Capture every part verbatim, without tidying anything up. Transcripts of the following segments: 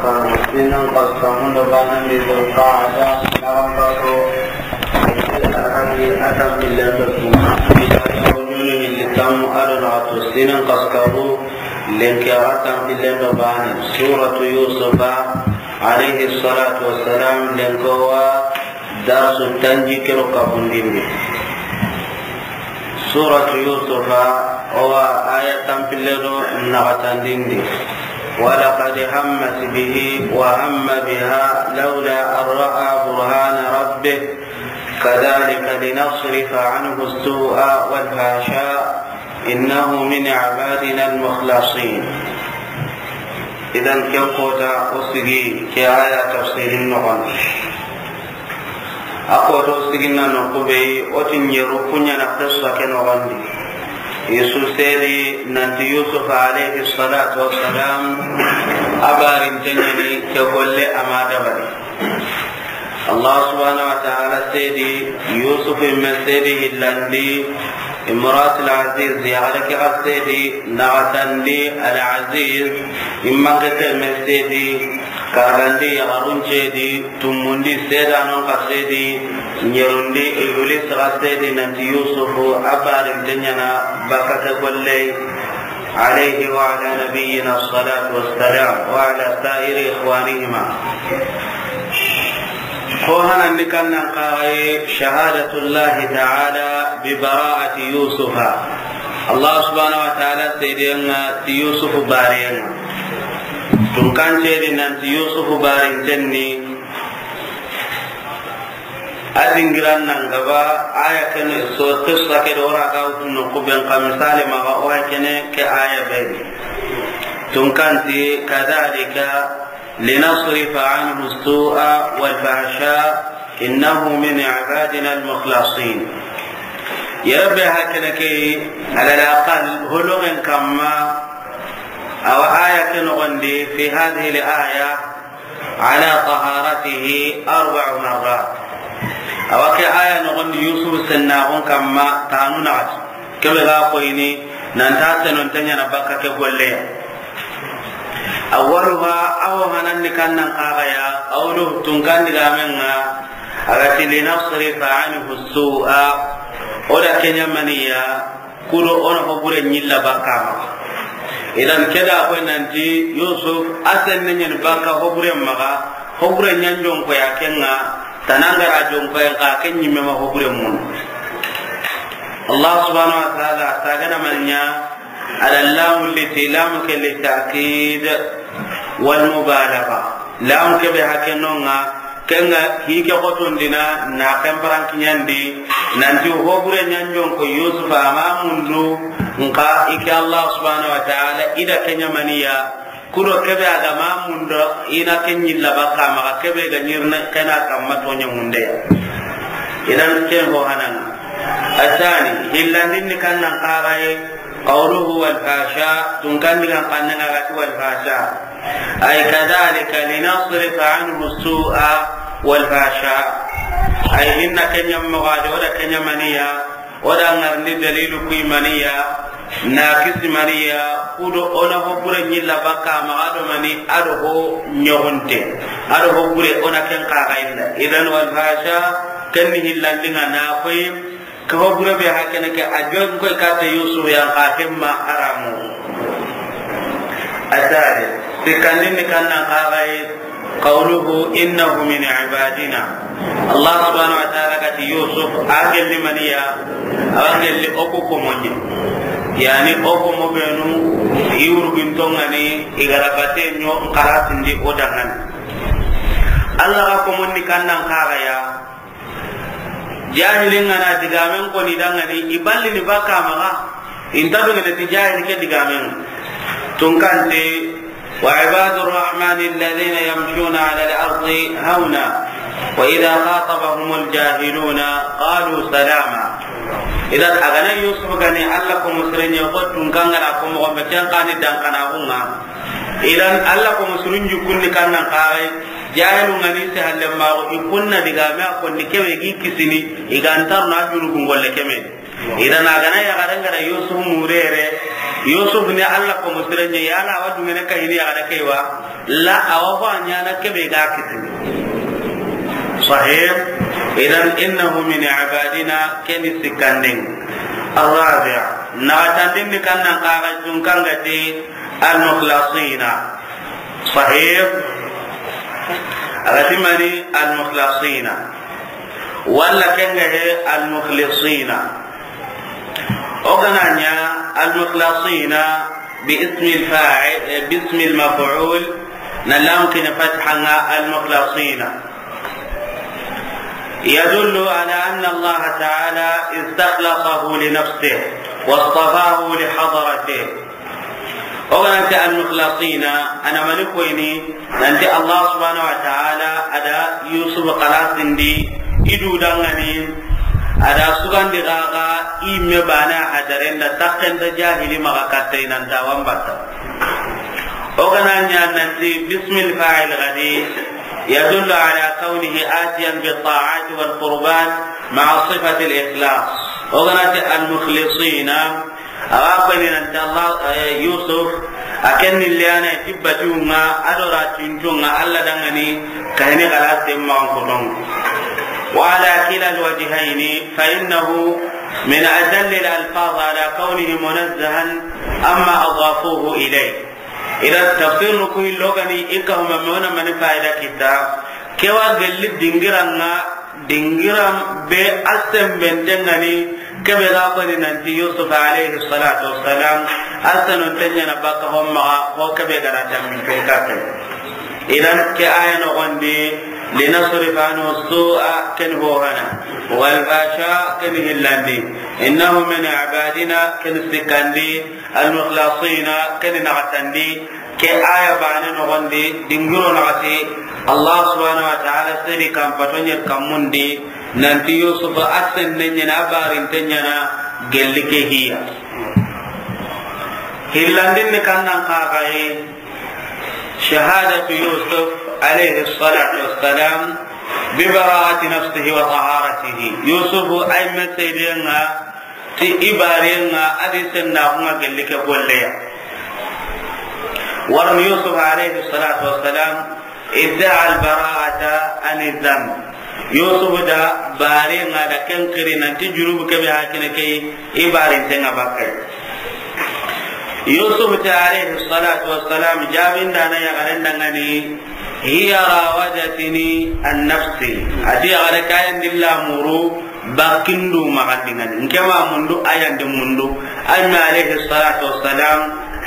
Sinan kasu tanmun do baane ni Zulqaada, naxan kaso, a tanpillen do tun, ɲunu hilli tanmu do naxatu, sinan kasu kaabu, lenki a tanpillen do baane, Suuratu Yuusufa, alayhi salaatu wassalaam, lenki o wa darsu tanjikke do kafundi ndi. Suuratu Yuusufa, o wa aaya tanpille do naxatandi ndi. ولقد همت به وهم بها لولا أن رأى برهان ربه كذلك لنصرف عنه السوء والفحشاء إنه من عبادنا المخلصين. Idan, ken koota o sigi ke aaya tafsirin noxon di. A koota o sigin na noqu be yi, o ti ɲeru ku ɲa na qissa ke noxon di. I su seedi nanti Yuusuf alayhi salaatu wassalaam a barinte ɲa ni ke golle a ma dabari. Allah subhanahu wa ta'ala seedi, Yuusuf me seedi hillandi, Imraatul Aziiz, yaxare ke xa seedi, naxatandi Al Aziiz, i manke ke me seedi, karagandi yaxarun seedi, tumundi seedaanon xa seedi, ɲerundi Ibliis xa seedi, nanti Yuusuf a barinte ɲa na bakka ke golle. عليه وعلى نبينا الصلاة والسلام وعلى سائر إخوانهما. Ko hanandi kannan kaxaye شهادة الله تعالى ببراءة يوسف. Allah subhanahu wa ta'ala seedeyen ŋa ti Yuusufu bareyen ŋa. Tunkan seedi nanti Yuusufu barinten ni. A dingiran nan gaba, aaya ke ni so, qissa ke do ra ga wutu noqu be n xa misali maxa, o aaya ke ni ke aaya be ni. Tunkan ti, كذلك لنصرف عنه السوء والفحشاء إنه من عبادنا المخلصين. Ya Rabbi, hakene ke, على الأقل, hologen kamma, awa aaya ke noxon di, في هذه الآية, على طهارته أربع مرات. Awa ke aaya noxon di Yuusufu sennaxun kamma tanu naxati. Kebe ga koyini nan ta senonte ɲa na bakka ke golle ya. أولها, awa hanandi kannan kaxaya, قوله, tunkan digamen ŋa, a ga ti, لنصرف عنه السوء, o da ke ɲa maniya, kudo o na hobure ɲilla bakka maxa. Idan ke da koy nanti Yuusuf a senne ɲa ni bakka hobure maxa, hobure ɲa n jonko ya ken ŋa, tanangara jonko ya xa ken ɲimme ma hobure mun. Allah subhanahu wa ta'ala a sagana man ɲa, على اللام التي لام للتأكيد والمبالغة. Lam kebe hakenonga, kenga hike xotondina na ken parankiɲandi, nanti hobure ɲanjonko Yusufa ama mundu, nka ike Allah subhanahu wa ta'ala ida keɲamaniya, kudo kebe aga ma mundo, ina ken ɲilla baka maxa kebe ga ɲirne kena kamma toɲa mundeya. Idan ken ho hananga. Asani, hillandinni kannan kaxaye, qawluhu wal fasha, tunkandigan kannanga gati wal fasha. Ay kadhalika linasrifa anhu su'a wal fasha. Ay inna kenyam mogade, oda kenyamaniya, oda ngarni dalilu kuimaniya, na kisimaniya, kudo ona hobure ɲilla baka maxa do mani, ado ho ɲogunte, ado hobure ona ken kaxayinda. Idan wal fasha, kenni hillandinga na koy, ke hobure be hakene ke a jon koy kate Yusuf yan ka kemma haramu. Asare, sikandinni kannan kaxaye, qawluhu innahu min ibadina. Allah subhanahu wa ta'ala gati Yusuf, a gelli maniya, a gelli oku komonye. Yani oku mo benu, iwru bintongani, igara bate nyo, nkarasindi odangani. Allah ga komonni kannan kaxaya, jahilin ngana digamen koni dangani, iballini baka maxa, inta dogene ti jahili ke digamen. Tunkante, wa ibadu rahmani alladhina yamshuna ala al-ardi hawna, wa idha khatabahumul jahiluna qalu salama. Idan agana Yusuf gani Allah ko musrenye ko tunkangana ko mo be ken kani dankana hunga. Idan Allah ko musulun jukunni kannan kaxay, jahilu ngani se halle mago ikunna diga me a konni kewe gi kisini, igantar na junubu ngolle keme. Idan agana ya garanga da Yusuf murere, Yusuf ni Alla ko musire ɲa, yala a wa duŋene kayini yaxare ke wa? La, a wa fo a ɲaana ke be ga kitini. Sahih. Idan innahu min ibadina, ken ni sikkandin. Arrabi', naxatandin ni kannan xaxa junkangati almukhlasina. Sahih. A ga ti mani almukhlasina. Walla ken ga he almukhlisina. O ga na ɲa almukhlasina bi ismi alfa'il, eh, bi ismi almaf'ul, na lam ke ɲa fatha ŋa almukhlasina. يدل على أن الله تعالى استخلصه لنفسه واصطفاه لحضرته. O ga na ti almukhlasina, a na mani koyini, nanti Allah subhanahu wa ta'ala a da Yusuf xalasindi i du danŋani, a da sugandi xaxa i me bana hadaren da, taxen da jahili maxa katta i nan ta wa n batta. O ga na ɲa nanti bismil fa'il gadi, يدل على كونه آتيا بالطاعات والقربات مع صفة الإخلاص. O ga na ti almukhlisina, a wa koyini nanti Allah, eh, Yusuf, a ken ni liyana ti batiwunŋa, a do ra tintunŋa, Alla danŋani, kahini xalasen maxan koton. وعلى كلا الوجهين فإنه من أجل الألفاظ على كونه منزها عما أضافوه إليه. Ida tafsir nu ku hillo gani i ka huma me wona mani fayida kita. Ke wa gelli dingiran ŋa, dingiran be a sembenten ŋa ni, ke be ga koni nanti Yusuf alayhi salatu wassalam, a senonten ɲaana baka ho maxa, ho ke be ga ra tammi fen kafe. Idan ke aya noxondi, لنصرف عنه السوء, ken ho hana, والفحشاء, ken hillandi, إنه من عبادنا, ken sikkandi, المخلصين, ken naxatandi. Ke aya bane noxondi, dingiro naxati, Allah subhanahu wa ta'ala seri kan pato ɲa kammundi, nanti Yusuf a senne ɲaana, a barinte ɲaana, gelli ke hiya. Hillandin ni kannan xaxaye, شهادة يوسف عليه الصلاة والسلام ببراءة نفسه وطهارته. Yusuf ay me seedeŋa ti i barenŋa, a di sennaxunŋa gelli ke golleya. Warni Yusuf alayhi salatu wassalam ادعى البراءة عن الذنب. Yusuf da barenŋa da ken xiri nanti junubu ke be hakene ke i barintenŋa bakkay. Yusuf ti alayhi salatu wassalam, jabindana yaxaren danŋani, هي راودتني عن نفسي. A ti yaxare ke a yan di lamuru, bakindu maxandingani. Nke ma mundu, a yan di mundu. Ay me alayhi salatu wassalam,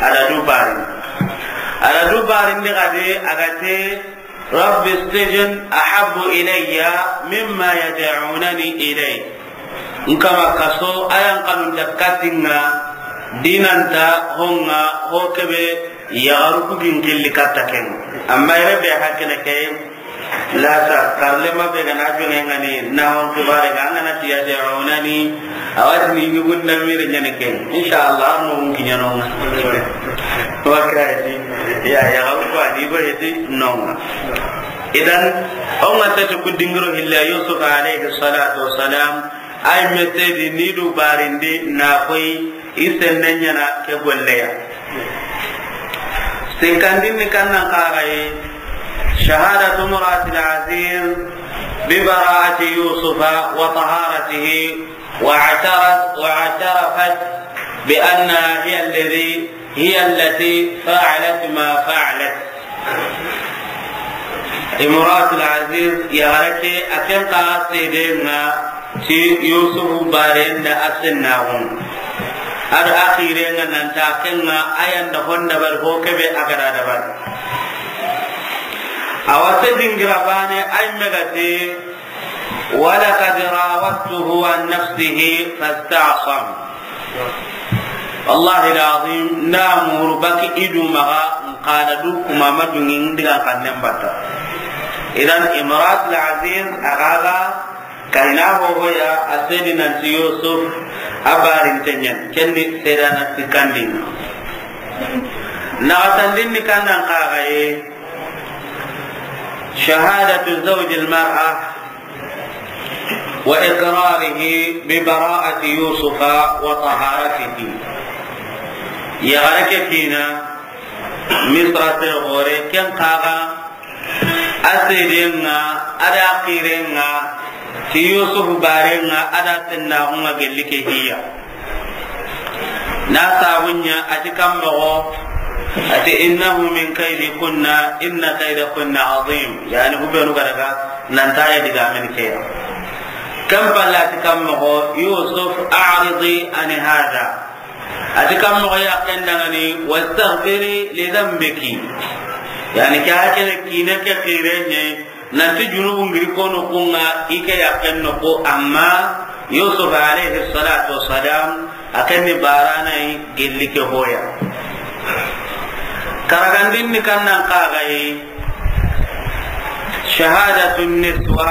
a da du barin. A da du barin di gade, a ga te, رب السجن أحب إلي مما يدعونني إليه. Nkama kaso, a yan kanun da katinŋa, dinanta honŋa, ho ke be yaxaru ku gin xilli katta ken. Amma yere be hakene ke, la sa, karlema be ga na jonŋe ŋa ni, na hon kibare ga, an ga na ti يدعونني, a wa ti ni yugun da mire ɲaana ke. Inshallah, an no kiɲa no ŋa. Wa kaydi, ya, ya, ko a ni bo heti no ŋa. Idan, o ŋa ta ti ku dingiro hilla Yusuf alayhi salatu wassalam, ay me seedi ni du barindi na koy i senne ɲaana ke golleya. Sikkandin ni kannan xaxaye, شهادة امرأة العزيز ببراءة يوسف وطهارته، واعترف-، واعترفت بأنها هي الذي، هي التي فعلت ما فعلت. Imratul Aziz, yaxare ke, a ken xa seedeŋa ti Yusufu baren da a sennaxun. A do a xirenŋa nanta a kenŋa a yan da hon dabari ho ke be a ga da dabari. A wa se dingira bane ay me ga ti, ولقد راودته عن نفسه فاستعصم. Wallahi lazim, na muru baki i du maxa, n xa na du kuma ma dungi n digan xannen batta. Idan Imratul Aziz a ga ga kayina ho ho ya, a seedi nanti Yusuf a barinten ɲa ni, ken ni seedana sikkandin. Naxatandin ni kannan xaxaye, شهادة زوج المرأة وإقراره ببراءة يوسف وطهارته. Yaxare ke kiina Misra se xoore, ken xa ga a seedeŋa, a da xireŋa, ti Yusuf bareŋa, a da sennaxuŋa gelli ke hiya. Na sabunya a ti kan moxo, a ti, "Innahu min kaydikunna, inna kaydakunna azim." Yani, hubenu ga daga, nan ta ya diga men ke ya. Kan balla a ti kan moxo, "Yusuf, a'ridi an hada." A ti kan moxo ya ken dangani, "Wastaghfiri li dhanbiki." Yani, ke hakene kiine ke xireŋe, nanti junubu ngiri kono kunŋa, i ke ya ken noxo, amma Yusuf alayhi salatu wassalam, a ken ni barana yi gelli ke hoya. Karagandin ni kan nan xa ga yi, شهادة النسوة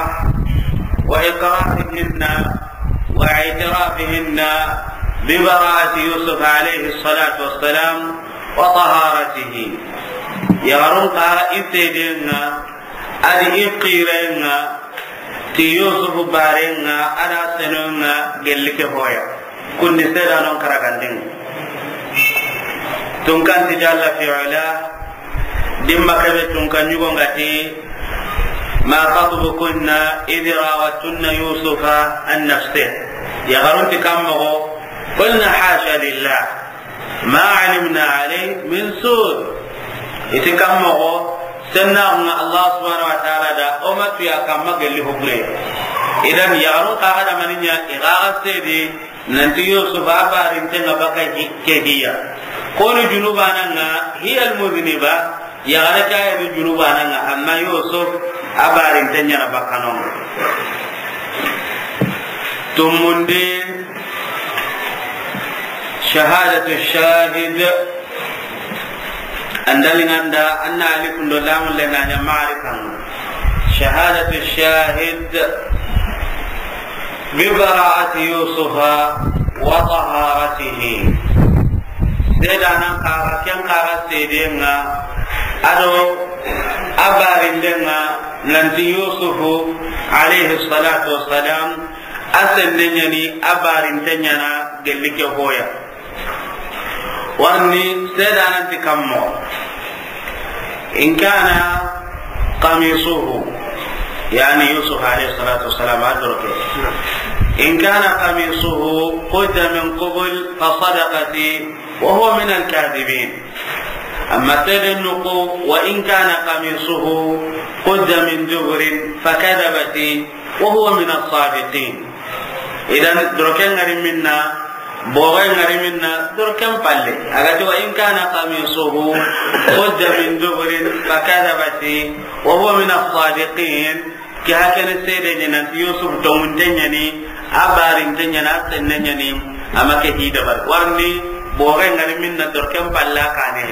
وإقرارهن واعترافهن ببراءة يوسف عليه الصلاة والسلام وطهارته. Yaxarun xa i seedeŋa, a di i xireŋa, ti Yusuf bareŋa, a da senoŋa gelli ke hoya. Kundi seedanon karagandin. Tunkan ti jalla fi ula, dimma kebe tunkan yugo ngati, "Ma khatbukunna idh rawattunna Yusufa an nafsih." Yaxarun ti kan moxo, "Qulna hasha lillah, ma alimna alayhi min su." I ti kan moxo, sennaxuŋa Allah subhanahu wa ta'ala da, o ma tu ya kamma gelli hubure. Idan, yaxarun xa ga da maninya, i ga ga seede, nanti Yusuf a barintenŋa baka hi-, ke hiya. Koni junubanaŋa, hiya almuzniba, yaxare ke ya ni junubanaŋa, amma Yusuf a barintenŋa na baka no. Tumundi, shahadatu shahid. Andalinganda, anna alifundo lamun le na nya ma'rifan. Shahadatu shahid bi bara'ati Yusufa wa taharatihi. Seedanan xa ga, ken xa ga seedeŋa, a do a barindenŋa, nanti Yusufu alayhi salatu wassalam, a senne ɲa ni, a barinten ɲa na gelli ke hoya. Warni seedanan ti kammo. In kana qamisuhu, yani Yusuf alayhi salatu wassalam a doroke. In kana qamisuhu qudda min qubul fa sadaqati wa huwa min al-kadhibin. Amma seeden nuku, wa in kana qamisuhu qudda min duburin fa kadhabati wa huwa min as-sadiqin. Idan, doroken ŋari minna, bogen ŋari minna, doroken palle. A ga ti, "Wa in kana qamisuhu qudda min duburin fa kadhabati wa huwa min as-sadiqin." Ke hakene seede ɲa nanti Yusuf tonŋunte ɲa ni, a barinte ɲa ni, a senne ɲa ni, a ma ke hi dabari. Warni, bogen ŋari minna, doroken palle a kane.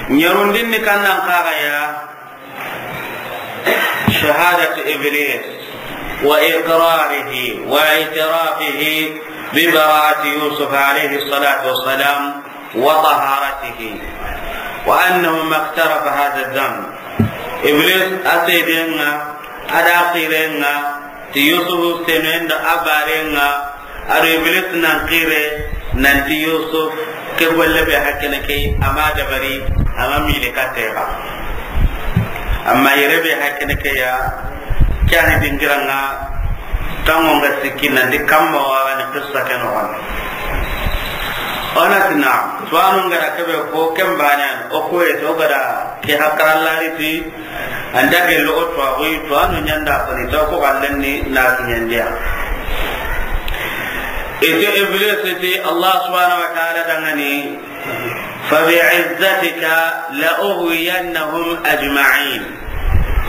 Ɲerundin ni kannan xa ga ya, شهادة إبليس وإقراره واعترافه ببراءة يوسف عليه الصلاة والسلام وطهارته، وأنه ما اقترف هذا الذنب. Iblis a seedeŋa, a da xireŋa, ti Yusufu senoyen do a bareŋa, a do Iblis nan xire nanti Yusuf ke golle be hakene ke, a ma dabari, a ma mile katte ba. Amma yere be hakene ke ya, ke ani dingiraŋa, tanŋo ŋa sikki nanti kamma wa ni qissa ke no wan. Ona tina, tuwanu ŋa da ke be ko ken bane, o ko e to ga da ke hakarallari ti, An da gelli o tuwaaxu yi, tuwaano ɲa nda koni, taw ko xallen ni na kiɲandiya. Ite Iblis ti Allah subhanahu wa ta'ala danŋa ni, "Fa bi'izzatika la ughwiyannahum ajma'in,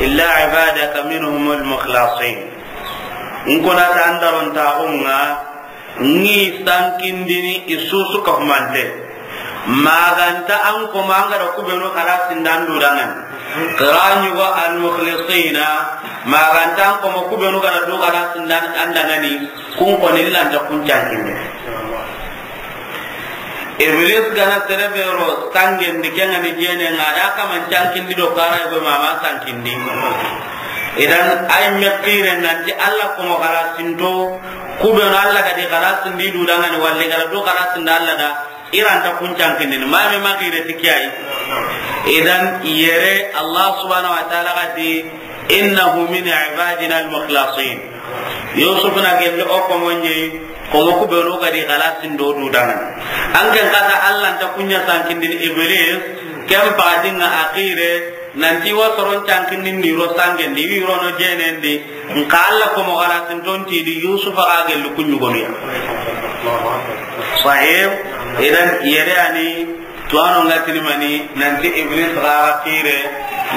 illa ibadaka minhumul mukhlasin." N ko na ta an darontaaxu ŋa, Ŋi sankindini i susu ka humante. Maganta an koma an ga da kubenu xalasindan du danŋa ni. Xira ɲugo al-mukhlisina, maganta an koma kubenu ga da du xalasindan an danŋa ni, kun koni lanta kun cankinde. Iblis ga na sere be ro sangendi, ke ŋa ni jene ŋa da kaman cankindi do kara go mama sankindi. Idan ay me xire nanti Allah koma xalasinto, Ku be no Alla ga di xalasindi du dangani, walla i ga ra du xalasindi Alla da, i ra nta kun cankindini. Ma me ma xire ti ke yi. Idan yere Allah subhanahu wa ta'ala ga ti, "Innahu min ibadina al-mukhlasin." Yusuf na gelli o ko mo ɲi, ko mo ku be no ga di xalasindo du dangani. An ken kata Alla nta kun ɲa sankindini Iblis, ken patinga axire, nanti wa soron cankindini ro sangendi, wi ro no jenendi, nka Alla ko mo xalasinton ti di Yusuf ga gelli kun ɲugonu ya. Sahih, idan yere ani tuwano nga tini mani, nanti Iblis ga xire,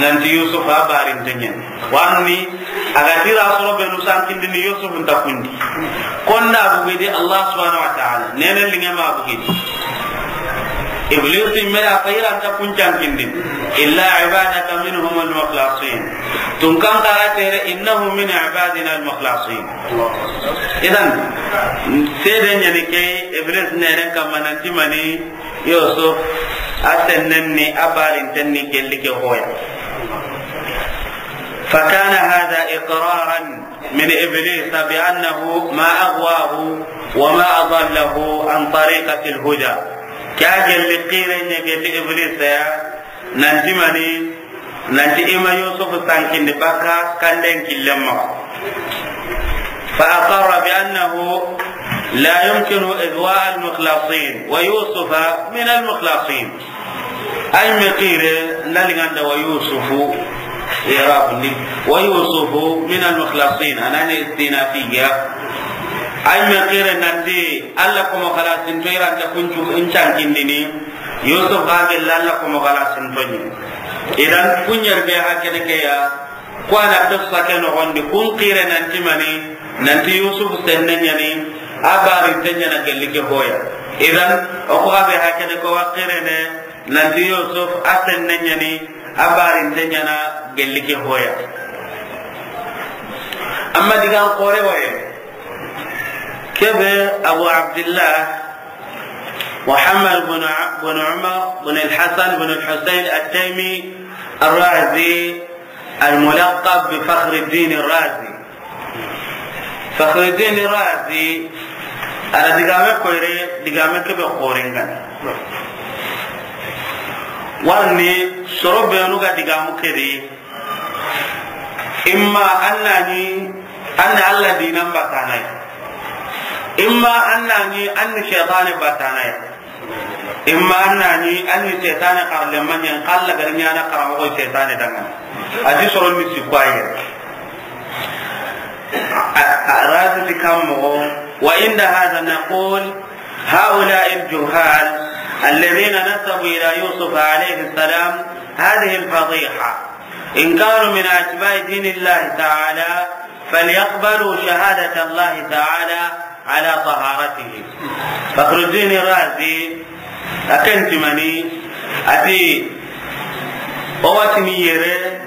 nanti Yusuf a barin tenyen. Warni, a ga tira soro be nu sankindini Yusuf nta kundi. Konda bugidi Allah subhanahu wa ta'ala. Nene linge ma bugidi. Iblis mera fayra nta kun cankindini. Illa ibadaka minhum al-mukhlasin. Tun kan kara tere, "Innahu min ibadina al-mukhlasin." Idan, sede ɲani ke Iblis neren kamma nanti mani Yusuf, a sennen ni, a barinten ni gelli ke hoya. فكان هذا إقرارا من إبليس بأنه ما أغواه وما أضله عن طريقة الهدى. Ke a gelli xire ɲa gelli Iblis ya, nanti mani, nanti i ma Yusuf sankindi baka kanden killen maxa. فأقر بأنه لا يمكن إغواء المخلصين ويوسف من المخلصين. Ay me xire, nda linganda wa Yusufu, i'rab ni, wa Yusufu min al-mukhlasin, anani istinafiya. Ay me xire nanti, Alla ko mo xalasinto i ra nta kun cu-, in cankindini, Yusuf ga gelli Alla ko mo xalasinto ɲi. Idan, kun ɲer be hakene ke ya, Ko a na qissa ke noxondi, kun xire nanti mani, nanti Yusuf senne ɲani, a barinten ɲana gelli ke hoya. Idan, o ko a be hakene ko wa xirene, nanti Yusuf a senne ɲani, a barinten ɲana gelli ke hoya. Amma digan xore waye, kebe Abu Abdillah Muhammad bin A-, bin Umar bin al-Hasan bin al-Husayn at-Taymi ar-Razi, al-mulaqab bi Fakhruddin ar-Razi. Fakhruddin ar-Razi, a da digame koyre, digame kebe xoren gana. Warni soro benu ga digamu kedi, imma annani, anna Alla dinan batanay. Imma annani, anni shaytane batanay. Imma annani, anni shaytane xarle manyen, xalla gar ɲana xaramoxo shaytane dangan. A ti soro ni sikwaye. A, a, Razi ti kammo, وعند هذا نقول هؤلاء الجهال الذين نسبوا إلى يوسف عليه السلام هذه الفضيحة إن كانوا من أتباع دين الله تعالى فليقبلوا شهادة الله تعالى على طهارته. Fakhruddin Razi, a ken ti mani, a ti, o wa tini yere,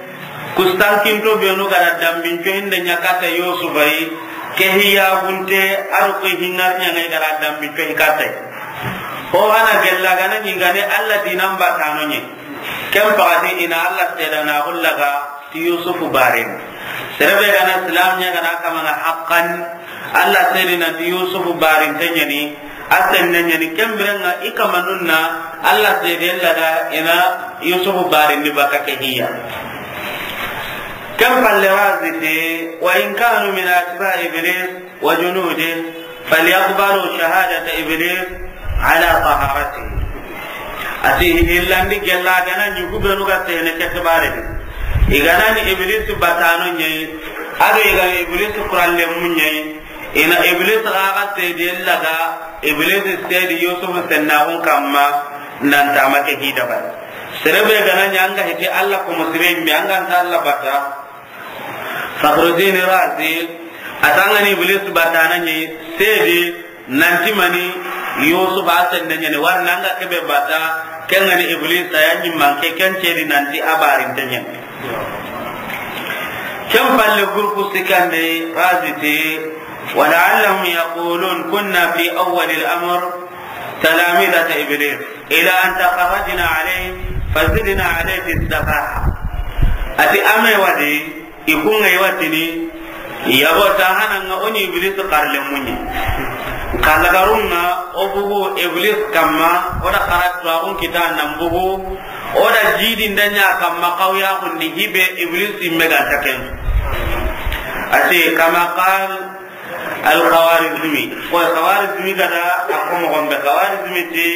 kustankinto benu ga da dambinto hinde ɲa kata Yusufa yi, ke hiyagunte, a do ke hingar ɲa ngai ga da dambinto hi kata yi. Ho hana gella gana ɲi gane Alla dinan batano ɲe. Ken paxati i na Alla seedana xullaga ti Yusufu barin. Sere be gana silam ɲa gana kamana haqqan, Alla seedi nanti Yusufu barinten ɲani, a senne ɲani, ken birenga i kamanun na Alla seedi ella da i na Yusufu barin di baka ke hiya. Ken palle Razi ti, وإن كانوا من أتباع إبليس وجنوده فليقبلوا شهادة إبليس على طهارته. A ti hillandi gella gana ɲi ku benu ga sene ke xibare di. I gana ni Iblis batano ɲe, a do i gana Iblis kuralle mu ɲe, i na Iblis ga ga seedi ella ga, Iblis seedi Yusuf sennaxun kamma, nan tama ke hidaba. Sere be gana ɲa anga hiti Alla ko musire mbi anga nta Alla bata. Fakhruddin Razi, a tangani Iblis batana ɲi, seedi nanti mani Yusuf a senne ɲani, wari nanga kebe bata, ken gani Iblis a ya ɲi manke, ken seedi nanti a barinten ɲani. Ken palle groupe sikande Razi ti, ولعلهم يقولون كنا في أول الأمر تلامذة إبليس إلى أن تخرجنا عليه فزدنا عليه في السفاهة. A ti a me wadi, i kunga i wa tini, Yabo ta hananga o ni Iblis xarle muñi. Kalagarunga o bugu Iblis kamma, o da xara tuwaxun kita nan bugu, o da jidi ndanya kamma xawya xundi hibe Iblis imme ga taken. Ati kama qal al-Khawarizmi. Ko Khawarizmi gada a ko mo gombe Khawarizmi ti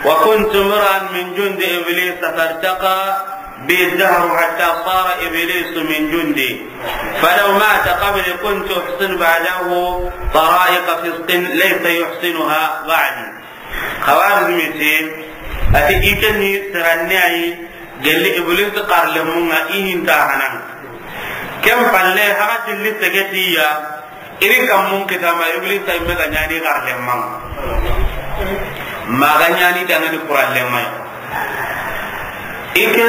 وكنت امرأ من جند إبليس فارتقى بي الدهر حتى صار إبليس من جندي، فلو مات قبلي كنت أحسن بعده طرائق فسق ليس يحسنها بعدي. Khawarizmi ti, ati i ke ni siranne ayi, gelli Iblis xarle munga i hinta hanan. Ken palle haga tilli segetiya, Iri kammun kitama Iblisa imme ga ñani xarle maŋa. Maga ñani dangani kuralle may. Ike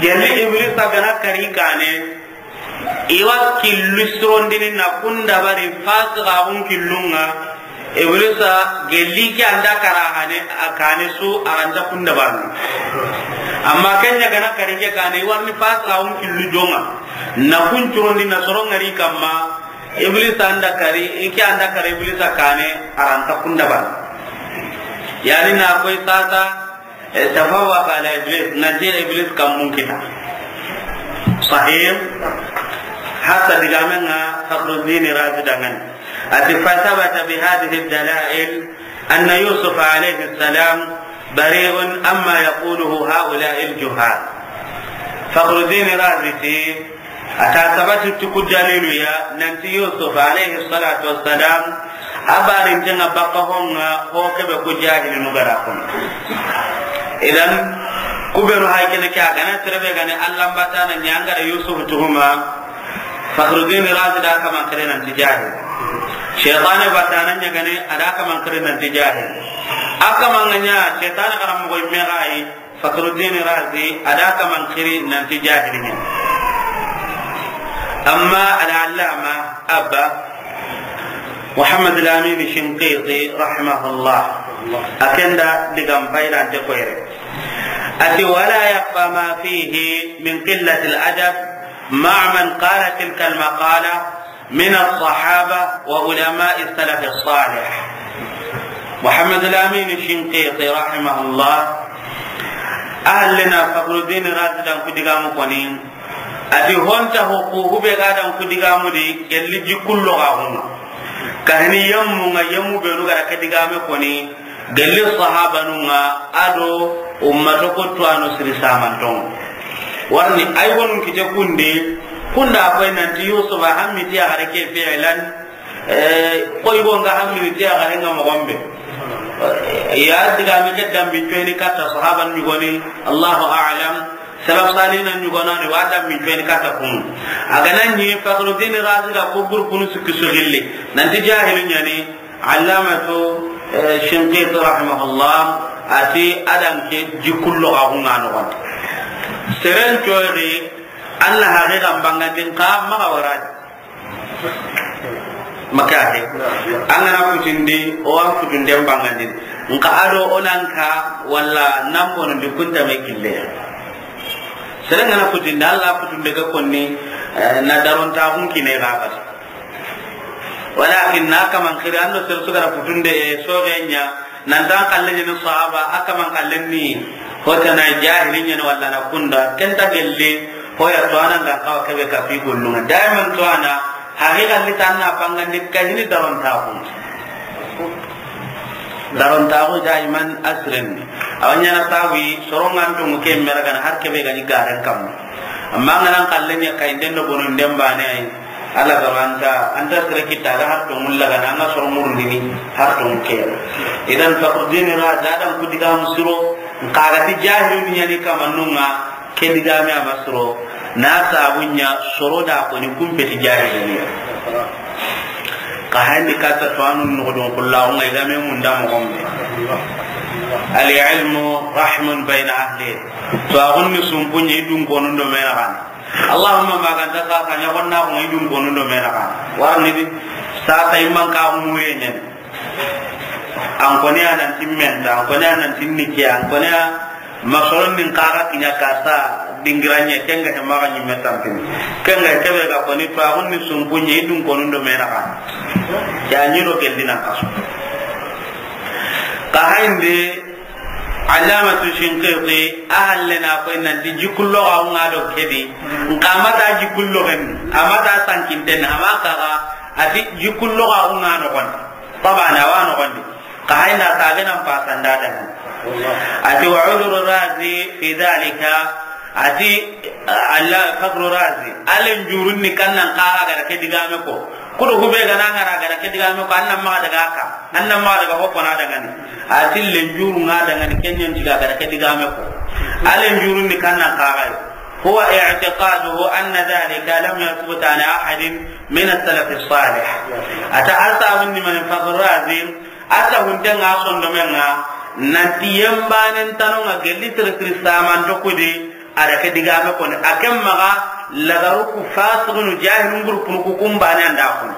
gelli Iblisa gana kari kane. Iwa killu sirondini na kunda bari fasiqaxun killunga. Iblisa gelli ke anda kara hane a kane su a anta kunda barni. Amma kenya gana kari ke kane iwarni fasiqaxun killu jonga. Na kun curondi na soro ngari kamma, Iblis anda kari, ike anda kari Iblis kane, aranta kunda ban. Yani na koy sasa, eh, tafawwaqa ala Iblis, nanti Iblis kam munkita. Sahih, hatta digamenga Fakhruddin Razi dangan. Ati, فثبت بهذه الدلائل أن يوسف عليه السلام بريء عما يقوله هؤلاء الجهال. Fakhruddin Razi ti, a ta sabati ti ku dalilu ya, nanti Yusuf alayhi salatu wassalam, a barintenga bakka honga, ho kebe ku jahilinu gara kono. Idan, kubenu hay kene ke a gana terebe gane Allah batana ñangara Yusuf tuhuma, Fakhruddin Razi da kaman kare nanti jahil. Shaytane batana ñagane, a da kaman kare nanti jahil. A kaman ŋa ña, shaytane karam mo imme gayi, Fakhruddin Razi, a da kaman kiri nanti jahili ñi. Amma al-allama Abba Muhammad al-Amin Shinqiti rahimahullah, a kenda digam faydante koyre. Ati, ولا يخفى ما فيه من قلة الأدب مع من قال تلك المقالة من الصحابة وعلماء السلف الصالح. Muhammad al-Amin Shinqiti rahimahullah, ahallena Fakhruddin Razi dan ku digamu koni, ati honta ho ku hube ga dan ku digamu di gelli jikullo ga huma. Kahini yammu nga yammu benu gara ke digame koni, Gelli sahabanunga ado ummato ko tuwano siri samantonga. Warni ay gonun kite kunde, kunda koy nanti Yusufa hammiti a gare ke fi'lan, eh, koy gonga hammiti a gare nga mogombe. Ya digame ke dambi cueni katta sahaban ñugoni, Allahu a'lam. Salaf salina ñugonani wa dambi cueni katta kunu. Agana ñi Fakhruddin Razi da ko gurpunu sukki sugilli. Nanti jahilun ñani, Allamatu, eh, Shinqiti rahimahullah, ati adan ke jikullo ga hunga no gon. Seren coyri, Allah haqiqan bangandin ka maga waradi. Maka he. An gana kutindi, o an kutunden bangandin. Nka ado onanka, walla nambono di kunta me kille. Seren gana kutindi, Allah kutunde ga konni, eh, na daronta hun kine ga bata. Walakin na kaman kiri ando sere su gara kutunde, eh, soge nya, nan tan kalle ni sahaba, a kaman kalle ni hota na jahili nya wala na kunda, kenta gelle, hoya to anan ga kawa kebe ka fi gollunga. Daiman to ana, haqiqa li tan na pangandi kahini daron ta kun. Daron ta ko daiman asren. Awanya na tawi, sorongan to muke mera gana har kebe ga ni garen kam. Amma ngana kalle ni kay den do bonon den bane ay. Alla ga anta, anta sere kita ga har to mulla ga na nga soro murundini har to muke. Idan Fakhruddin Razi adan ku diga musuro, kaga ti jahilun yani kamanunga, ke diga me amasuro, na sabunya soro da ko ni kumpeti jahilun. Ka hani kata to anun no don kullahu ngai ga me munda mo gombe. Al ilmu rahmun bayna ahli. To agun ni sumpunye idun konun do mena kan. Allahumma ma ganta sasa ña gonna ko idun konundo mena ka. Warni di sasa imman ka mure ñen. An koni anan timmen, an koni anan tinni ke, an koni a Masoron nin kaga kiɲa kasa dingiranye, kenga he maga ɲimme tampini. Kenga he kebe ga koni to agun ni sumpunye idun konun do mena ka. Ya ɲiro gelli na kaso. Ka hainde Allamatu Shinqiti a halle na koy nanti jikullo ga unga do kedi. Nka mata jikullo gen, amata sankinten, amaka ga ati jikullo ga unga no kon. Tabana wa no kon di. Ka hayna sabe nan pasanda da. Ati wa udhru Razi fi dhalika. Ati Allah Fakhru Razi, alen jurun ni kannan kaga ga da ke digame ko. Kudo hube ga nan gara ga da ke digame ko, annan ma daga ka, annan ma daga ko na daga ni. Ati len jurun ga daga ni, kenyan tiga ga da ke digame ko. Alen jurun ni kannan kaga. Huwa i'tiqaduhu anna dhalika lam yathbut an ahadin min as-salaf as-salih. Ata asabun ni man Fakhru Razi, Ata hunte nga sondomen nga, nanti yembanen tano nga gelli tere siri saman dokudi, ada ke digame koni, akem maga lagaru ku fasigunu jahilun gurupunu ku kumbane anda kun.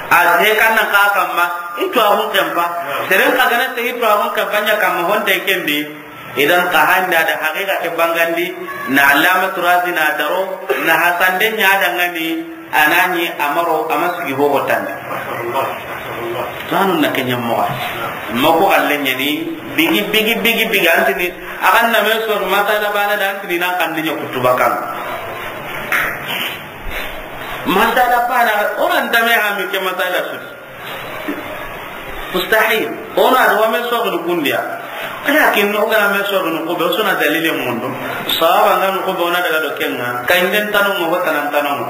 A se kanna ka kamma, itu ahun kempa. Seren kagana se itu ahun kempa nya kamma honte kembi. Idan ka handa da haqiqa ke bangandi, na Allamatu Razi na daro, na hasande nya dangani, anani amaro, ama sugi bogo tande. Tanu na kenya moga. Mako alle nyani, bigi, bigi, bigi, bigi, antini, akan na me so masala bana da antini nan kan dinya kutuba kan. Masala bana, orang tame ha mi ke masala su. Mustahil. Ona do me so ko kundiya. Lakin no ga me so ko be sona dalile mundo. Sahaba ngan ko be ona daga do kenga. Kay den tanu mo tanan tanu.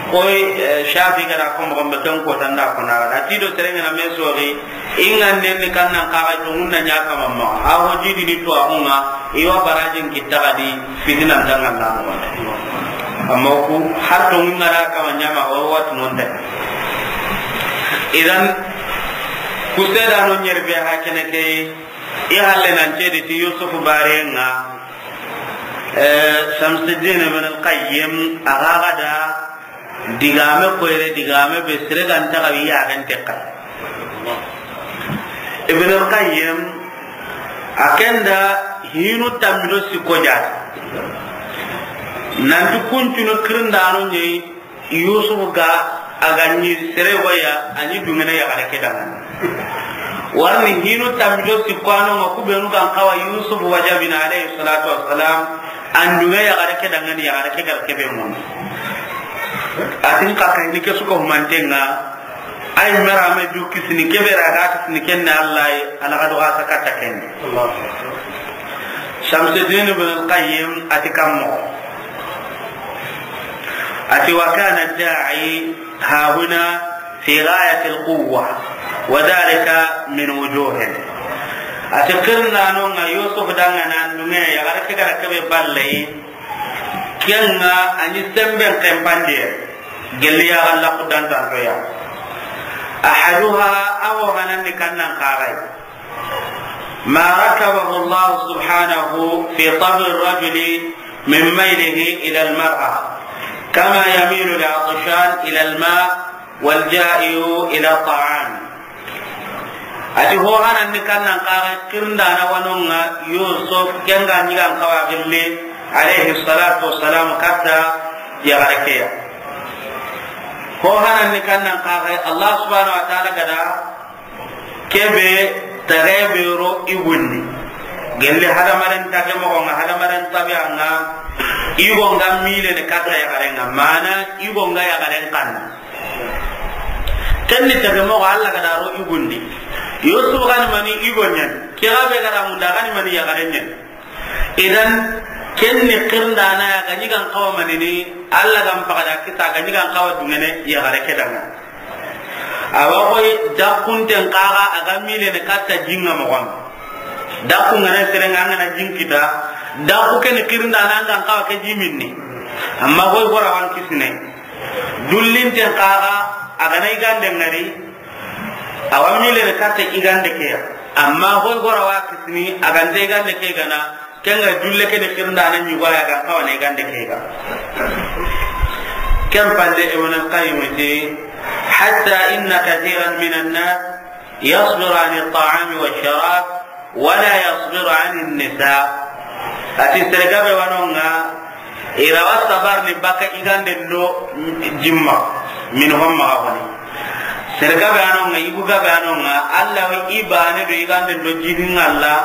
Koy, eh, Shafi gara ko mo be ton ko tanda ko na. Ati do terengana me so ri. Ingan den ni kannan kaga to munna nya kama ma. A ho jidi ni to ahunga. Iwa barajin kitta gadi fitina dangan na mo. Amma ku har to ngara kama nyama o wat non de. Idan kuseda no nyerbe ha kene ke i halle nan cedi ti Yusuf barenga. Eh, Shamsuddin ibn al-Qayyim a ga da digame koyre, digame be sire ganta ga wi yaxen tekka. Ibn al-Qayyim a kenda hinu tammido sikko jata. Nanti kuncunu kirindano ɲeyi Yusuf ga a ga ɲi sere waya a ɲi dungene yaxare ke dangani. Warni hinu tammido sikko ano nga kubenu gan kawa Yusuf wajabina alayhi salatu wassalam. An dunge yaxare ke dangani, yaxare ke gar kebe mun. Atin ka kayni ke suka humantenga. Ay mera me du kisini kebe ra ga kisini kenne Allah ay ala ga do ga sakata kenne. Shamsuddin ibn al-Qayyim ati kammo. Ati wa kana ad-da'i ha huna fi ghayati al-quwwa wa dhalika min wujuhin. Ati kirnano nga Yusuf dangana dunge yaxare ke gar kebe balle. Kenga a ɲi semben kempande, gelli ya galla kudantantoya. Ahaduha, awo hanandi kannan kagai. Ma rakabahu Allah subhanahu fi tab'i rajuli min maylihi ila al-mar'a, kama yamilu al-atshan ila al-ma, wal ja'i'u ila ta'am. Ati ho hanan ni kannan kaga kirndana wanonga Yusuf kenga ɲigan kawa gilli alayhi salatu wassalam katta yaxare keya. Ho hanan ni kannan kaga Allah subhanahu wa ta'ala gada kebe tage be ro i gundi. Gelli hadamaren tage moxo nga, hadamaren tabiya nga, i go nga mile ne katta yaxaren nga, mana i go nga yaxaren kanna. Kenni tage moxo Allah gada ro i gundi. Yusuf gani mani i go ɲani. Ke ga be gada munda gani mani yaxaren ɲani. Idan kenni kirndana ya ga ɲigan kawa manini, Allah gan pagada kita ga ɲigan kawa dungene yaxare ke danga. Awa koy dakkunten kaga a ga milene katta jinga moxon. Dakku ngana serenga ngana jinkita. Dakku keni kirndana ngan kawa ke jiminni. Amma koy gora wan kisine. Dullinten kaga a gana igande ngari. Awa milene katta igande keya. Amma koy gora wa kisini a gante igande ke gana. Kenga dulle kene kirndana ɲugoya ga kawane gande kega. Ken palle Ibn al-Qayyim ti, hatta inna kathiran min an-nas yasbiru an at-ta'ami wash-sharab wa la yasbiru an an-nisa. A ti sere gabe wa no ŋa, i ra wa sabarini baka i ganden do jimma, min homma ga woni. Sere gabe a no ŋa, yugu gabe a no ŋa, Alla wa i baane do i ganden do jinin ŋa Alla,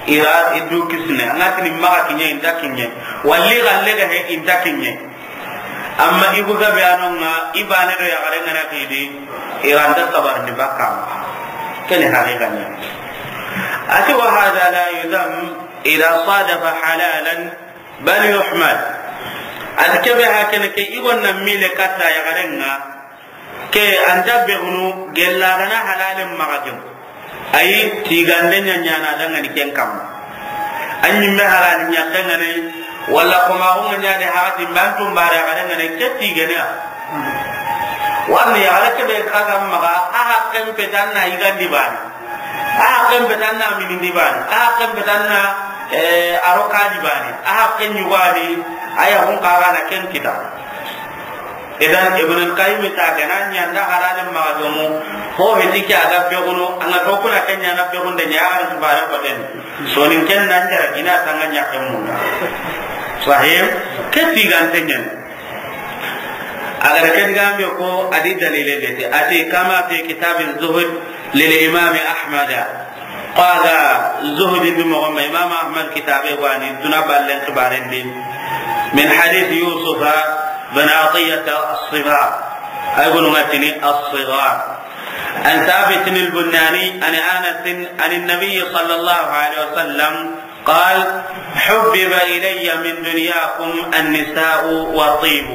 i ra i du kisine. An ga tini maxa kiɲe, i nta kiɲe. Walli galle ga he, i nta kiɲe. Amma yugu gabe a no ŋa, i baane do yaxare ŋa na xidi, i ra nta sabarini baka. Ken ni haqiqa ɲa. A ti, wa hada la yudam ida sadafa halalan bal yuhmad. A ti kebe ha kene ke i gonna mile katta yaxare ŋa, ke anta begunu gella gana halalen maxa gemu. Ayi, tigande ɲa ɲaana dangani ken kamma. An ɲimme halali ɲakke ŋa ne, walla komaxu ŋa ɲa de, haxati mbe an tumbare a ga dangane ke tigene ya. Warni yaxare kebe xa ga maxa, a haqqen petanna yigandi baane, a haqqen petanna minindi baane, a haqqen petanna, eh, arokadi baane, a haqqen ɲugadi, a yaxun xa ga na ken kita. Idan Ibn al-Qayyim ta gana ɲanda halalen maxa gemu, ho heti ke a ga begunu, an ga to kuna ken ɲa na begunde ɲa, a ga na tubare ko den. Soninken nan jara gina tanga ɲakke munda. Sahih, ke tigante ɲen. A ga da ke digambe ko a di dalile de te. A ti kama fi kitab az-Zuhd lil Imam Ahmad. Qala Zuhd bi moxo ma Imam Ahmad kitabe wani duna ballen xibaren di. Min hadith Yusuf bin Atiyah as-Sighar. Ay gonu ŋa tini as-Sighar. عن ثابت البناني عن أنس عن النبي صلى الله عليه وسلم قال: حبب إلي من دنياكم النساء والطيب،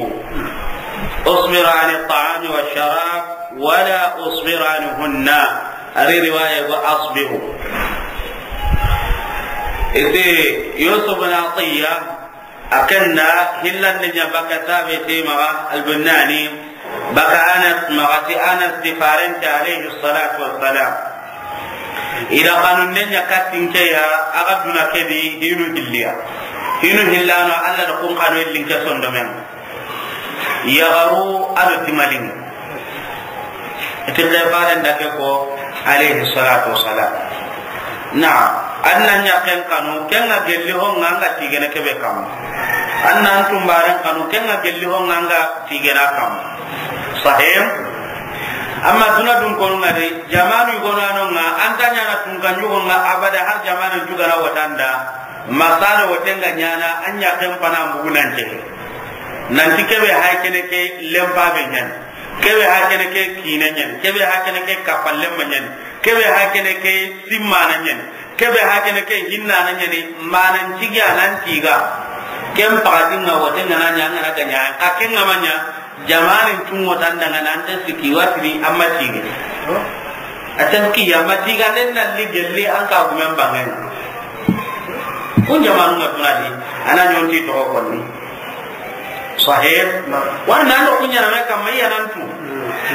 أصبر عن الطعام والشراب ولا أصبر عنهن. Ari riwaya go asbiru. Ite Yusuf bin Atiyah, a ken da hillande ɲa baka Thabit maxa Al-Bunani, baka Anas maxa ti Anas ti farente alayhi salatu wassalam. I da xanunde ɲa kattinke ya, a ga duna ke di hinu hilliya. Hinu hillano Alla da kun xanu linke sondomen. Yaxaru a do timalin. Iti ke faren da ke ko, alayhi salatu wassalam. Na, an na ɲaxen xanu, ken ŋa gelli ho ŋa an ga tigene kebe kamma. An na an tumbaren xanu, ken ŋa gelli ho ŋa an ga tigena kamma. Sahih? Amma duna dun konu ŋa de, jamanu yugo na no ŋa, an ta ɲana tunkan yugo ŋa abada har jamanu juga na watanda. Masala woten ga ɲana, an ɲaxen pana mbugu nan ce. Nanti kebe hay kene ke lempa be ɲani. Kebe ha kene ke kine ɲani, kebe ha kene ke kapallemma ɲani, kebe ha kene ke simmana ɲani, kebe ha kene ke hinnana ɲani, manan cigi anan tiga. Ken pakatin ŋa wote ŋa na ɲa ŋa na ga ɲa, a ken ŋa ma ɲa, jamanin tungo tanda ŋa nan te siki watini amma tige. A tan ki ya ma tiga nen na li gelli an ka gumen bangen. Kun jamanu ŋa tunadi, ana ɲonti to konni. Sahih. Wala nan do kuɲana me kamma iya nan tu.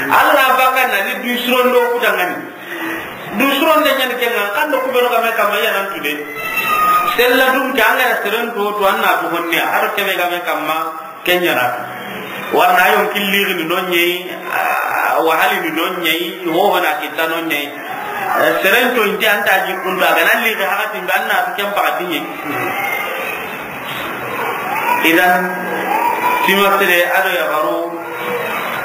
Alla baka na ni du surondo ku dangani. Du suronde ɲani ken ŋa, kan do ku be no ga me kamma iya nan tu de. Sella dum ke an ga na seren to, to an na tu honne, har kebe ga me kamma ken ɲana. Warna yon killi ni non ɲei, ah, wahali ni non ɲei, ho ho na kita non ɲei. Eh, seren to inti anta ji kundu a ga na li ga hakati be an na tu ken pakati ɲei. Idan, timasire a do yaxaru,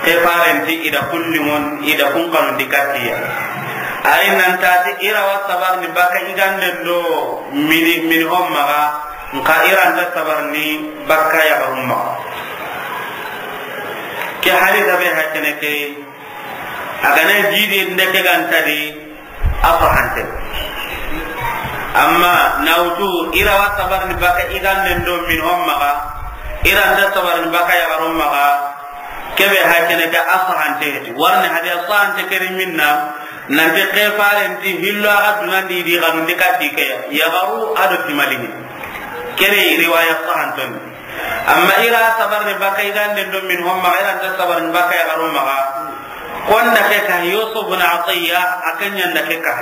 ke farenti i da kulli ŋon, i da kun xanundi kattiya. Ari nan tati i ra wa sabarini baka i ganden do mini, mini hon maxa, nxa i ra nta sabarini baka yaxarun maxa. Ke hadisa be ha kene ke, a ga na jidi nde ke ga nta di, a fahante. Amma na wutu i ra wa sabarini baka i ganden do mini hon maxa, i ra nta sabarini baka yaxarun maxa, kebe ha kene ke a fahante heti. Warni hadi a fahante keri minna, nanti ke farenti hillo a ga dunandi di xanundi katti ke ya. Yaxaru a do timalini. Kene riwaya fahantoni. Amma i ra sabarini baka i ganden do mini hon maxa, i ra nta sabarini baka yaxarun maxa. Konda ke ka Yusuf bin Atiyya, a ken ɲanda ke ka.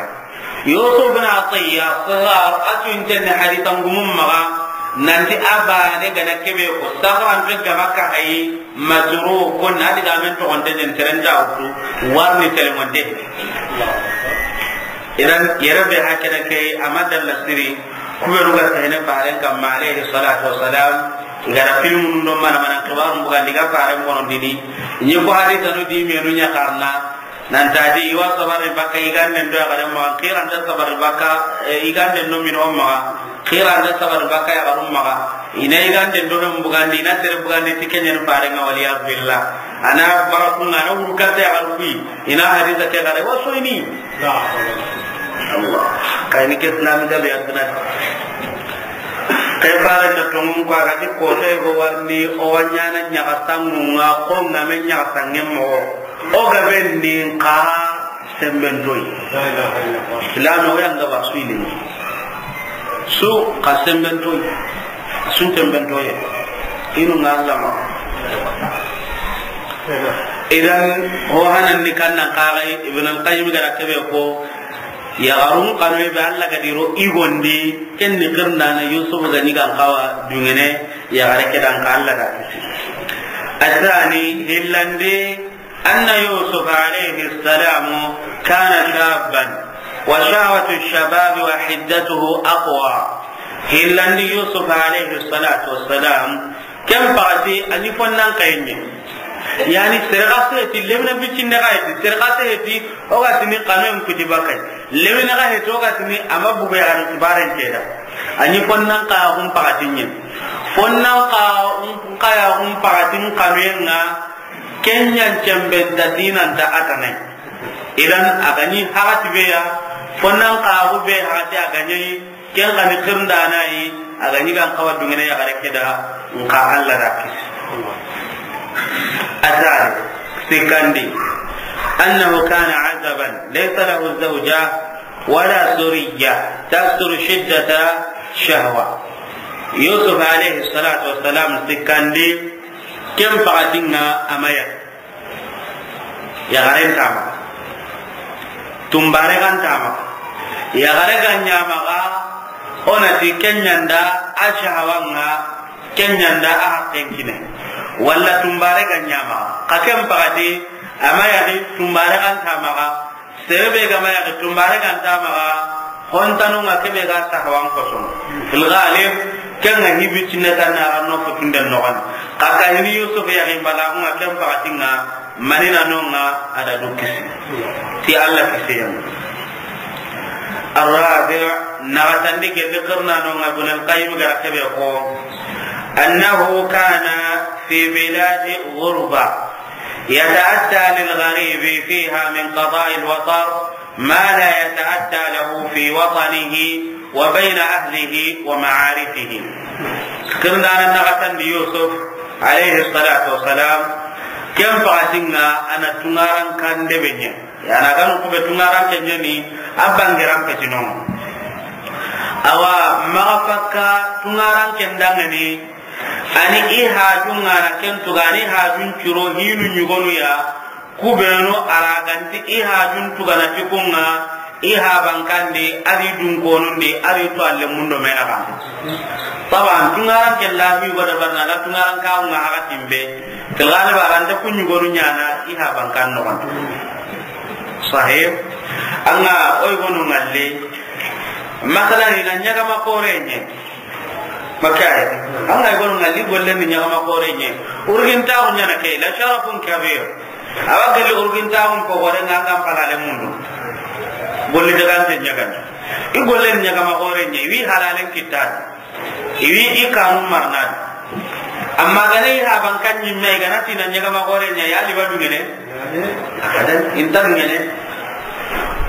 Yusuf bin Atiyya, Sighar, a tu intenne hadisan gumun maxa, nanti a bane ga na kebe ko, Saxran pe ga Makka hayi, Masruq, ko na diga men to onte den terenda utu, warni telemonte. Idan, yere be hakene ke, a ma dalla siri, Ku beenu ga sehene faaren kanma, alayhi salatu wassalam, i ga da filmunu do mana mana xibaarun bugandi, i ga faaren bonondini. I ɲi ko hadisanu di menu ɲa xarana, nan ti a di i wa sabari bakka yiganden do yaxaren maxa, xiranta sabari bakka, eh, yiganden do mino maxa, xiranta sabari bakka yaxarun maxa. I na yiganden do fen bugandi, i na sere bugandi ti ke ɲa ni faaren ŋa, waliyazu billah. A na baraku ŋa, a na wuru katta yaxaru kuyi, i na hadisa ke xara, i wa soyini. Allah. Kayini ke silami gabe aduna. Ke faaren da tonŋun ko, a ga ti ko te go warni, o wa ɲaana ɲaxa sanŋun ŋa, ko ŋa me ɲaxa sanŋen moxo. O gabe ni xa sembentoyi. La ilaha illallah. Silami o yan ga ba su yi ni. Su xa sembentoyi. Sun tembentoye. Inu ŋa lama. Idan, ho hanan ni kannan kaxay, Ibn al-Qayyim ga da kebe ko, yaxarun xanu be Alla ga di ro i gondi, ken ni xirindana Yusuf ga ɲi ga n xawa duŋene, yaxare ke da n xa Alla da kisi. Asani, hillandi, أن يوسف عليه السلام كان شابا، وشهوة الشباب وحدته أقوى. Hillandi Yusuf alayhi salatu wassalam, ken paxati a ɲi fonnan kayen ɲa. Yani, sere xa seheti, lemine biccinde xa heti, sere xa seheti, o ga tini xanuyen kuti bakay. Lemine xa heti, o ga tini a ma bugu yaxarin xibaren ke da. A ɲi fonnan kayaxun paxatin ɲa. Fonnan kayaxun paxatin xanuyen ŋa, Ken ɲa n cemben ta dinanta a tanay. Idan a ga ɲi haxati be ya, fonnan xaxu be haxati a ga ɲi, ken xa ni xirindana yi, a ga ɲi ga n xawa duŋene yaxare ke da, n xa Alla da kisi. Asali, sikkandi, أنه كان عزبا ليس له زوجة ولا ذرية تستر شدة الشهوة. Yusuf alayhi salatu wassalam sikkandi, ken paxatin ŋa a ma ya. Yaxaren nta maxa, tunbare xa nta maxa. Yaxare ga ɲa maxa, o na ti ken ɲa nda a shahawa ŋa, ken ɲa nda a haqqen kine. Walla tunbare ga ɲa maxa, xa ken paxati a ma yaxi, tunbare xa nta maxa. Sere be ga ma yaxi, tunbare ga nta maxa, hontanu ŋa ke be ga sahawan kosono. Fil ghalib, ken ŋa hibi cinne tan na ran no futunden noxon. Xa ga hini Yusuf yaxi balaxu ŋa ken paxatin ŋa, manina no ŋa a da du kisi. Ti Alla kisiyen. Ar-rabi', naxatandi gelli xirindano ŋa Ibn al-Qayyim ga ra ke be ko, أنه كان في بلاد غربة يتأتى للغريب فيها من قضاء الوطر ما لا يتأتى له في وطنه وبين أهله ومعارفه. Xirindana naxatandi Yusuf, alayhi salatu wassalam, ken paxatin ŋa a na tungaran kan debe ɲa. Ya na ganu kube tungaran ke ɲa ni, a bangiran petino. Awa, maxa fakka tungaran ken dangani, Ani i hajun ŋa na ken tuga, ani hajun curo hinu ɲugonu ya, ku benu a ra ga nti i hajun tuga na ti kun ŋa, i haban kandi, a ri dun konundi, a ri to alle mundo mena kan. Taban, tungaran ke la mi goda barna, la tungaran ka ŋa haga timbe. Tilgani ba ran ta kun ɲugonu ɲana, i haban kan no kan. Sahib, an ga o yi gonu ŋalle, masalan, i na ɲagama xore ɲa. Makka ay. An ga i gonu ŋalle, golle ni ɲagama xore ɲa. Urgintaxu ɲana ke, la sharafun kabir. Awa gelli urgintaxun ko gore ŋa, an ga n palale mundu. Golli dagante ɲagana. I golle ni ɲagama xore ɲa, i wi halalen kittana. I wi i kanu marana. Amma gane i haban kan ɲimme, i gana ti na ɲagama xore ɲa, ya li ba dungene? Abadan, i nta dungene.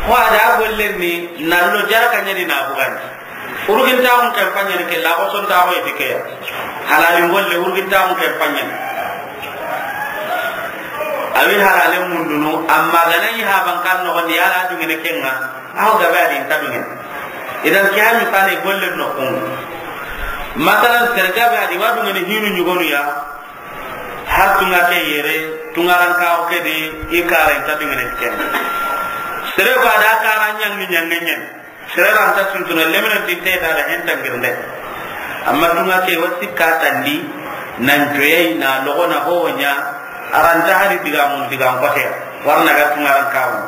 Ko a da golle ni, na lo jara ka ɲa di na bugan. Urgintaxun ken paɲani ke, la ko sontaxu eti ke ya. Halalin golle, urgintaxun ken paɲani. A wi halalen mundunu, amma gana i haban kan noxondi, ya la dungene ken ŋa, aw gabe a di nta dungene. Idan ke ya misale golle no kun. Masalan, sere gabe a di wa dungene hinu ɲugonu ya, har tunga ke yere, tungaran kawo ke di, i kara nta dungene ken. Sere ba da kara ɲangi ɲangi ɲen. Sere ra nta suntuna lemine di te ta da hen tangirnde. Amma tunga ke wa sikka tandi, nan joyey na logo na ho ɲa, a ra nta hari diga mun diga n kote, warna ga tungaran kawo.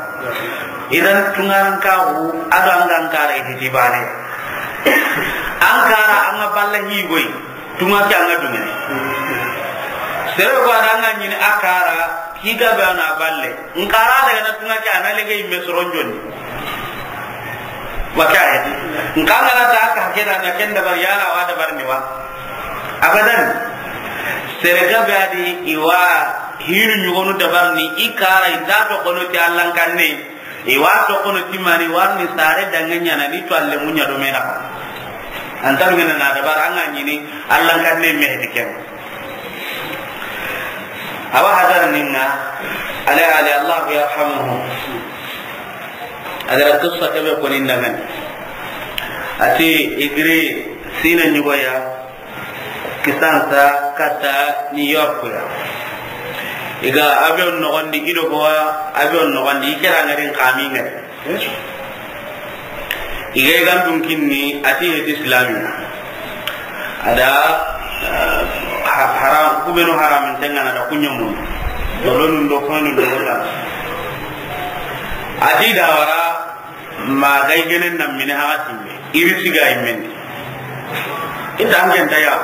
Idan tungaran kawo, a do an ga n kare hiti bane. An kara an ga balla hi goy, tunga ke an ga dungene. Sere ko an ga ɲini a kara, hi ga be an na balle. N kara daga na tunga ke an na lege yimme soron jonni. Wa ka he. N ka ngana ta ka ke da na ken dabar yala wa dabar ni wa. Abadan. Sere ga be a di i wa hinu ɲugonu dabar ni i kara i da to kono ti Allan kanne. I wa to kono ti mani warni sare dange ɲana ni to alle munya do mena. Antar ngena na dabar an ga ɲini Allan kanne me heti ken. Awa hadar ninga, ale, ale, Allah yarhamuhu. Adara qissa kebe ko ni ndangani. Ati i giri Sina ɲugoya, kisansa kata New York ya. I ga avion nogondi, i do ko avion nogondi, i kera ngarin kami ngari. I ga i gandun kinni, ati heti Islami. Ada, eh, ha-, haram, kubenu haramin tengana da kunyamun. Dolonun do fanun do wala. Ati da wara, ma ga i genen nan mini haga timme. Iri siga i men. Inta an ken ta ya.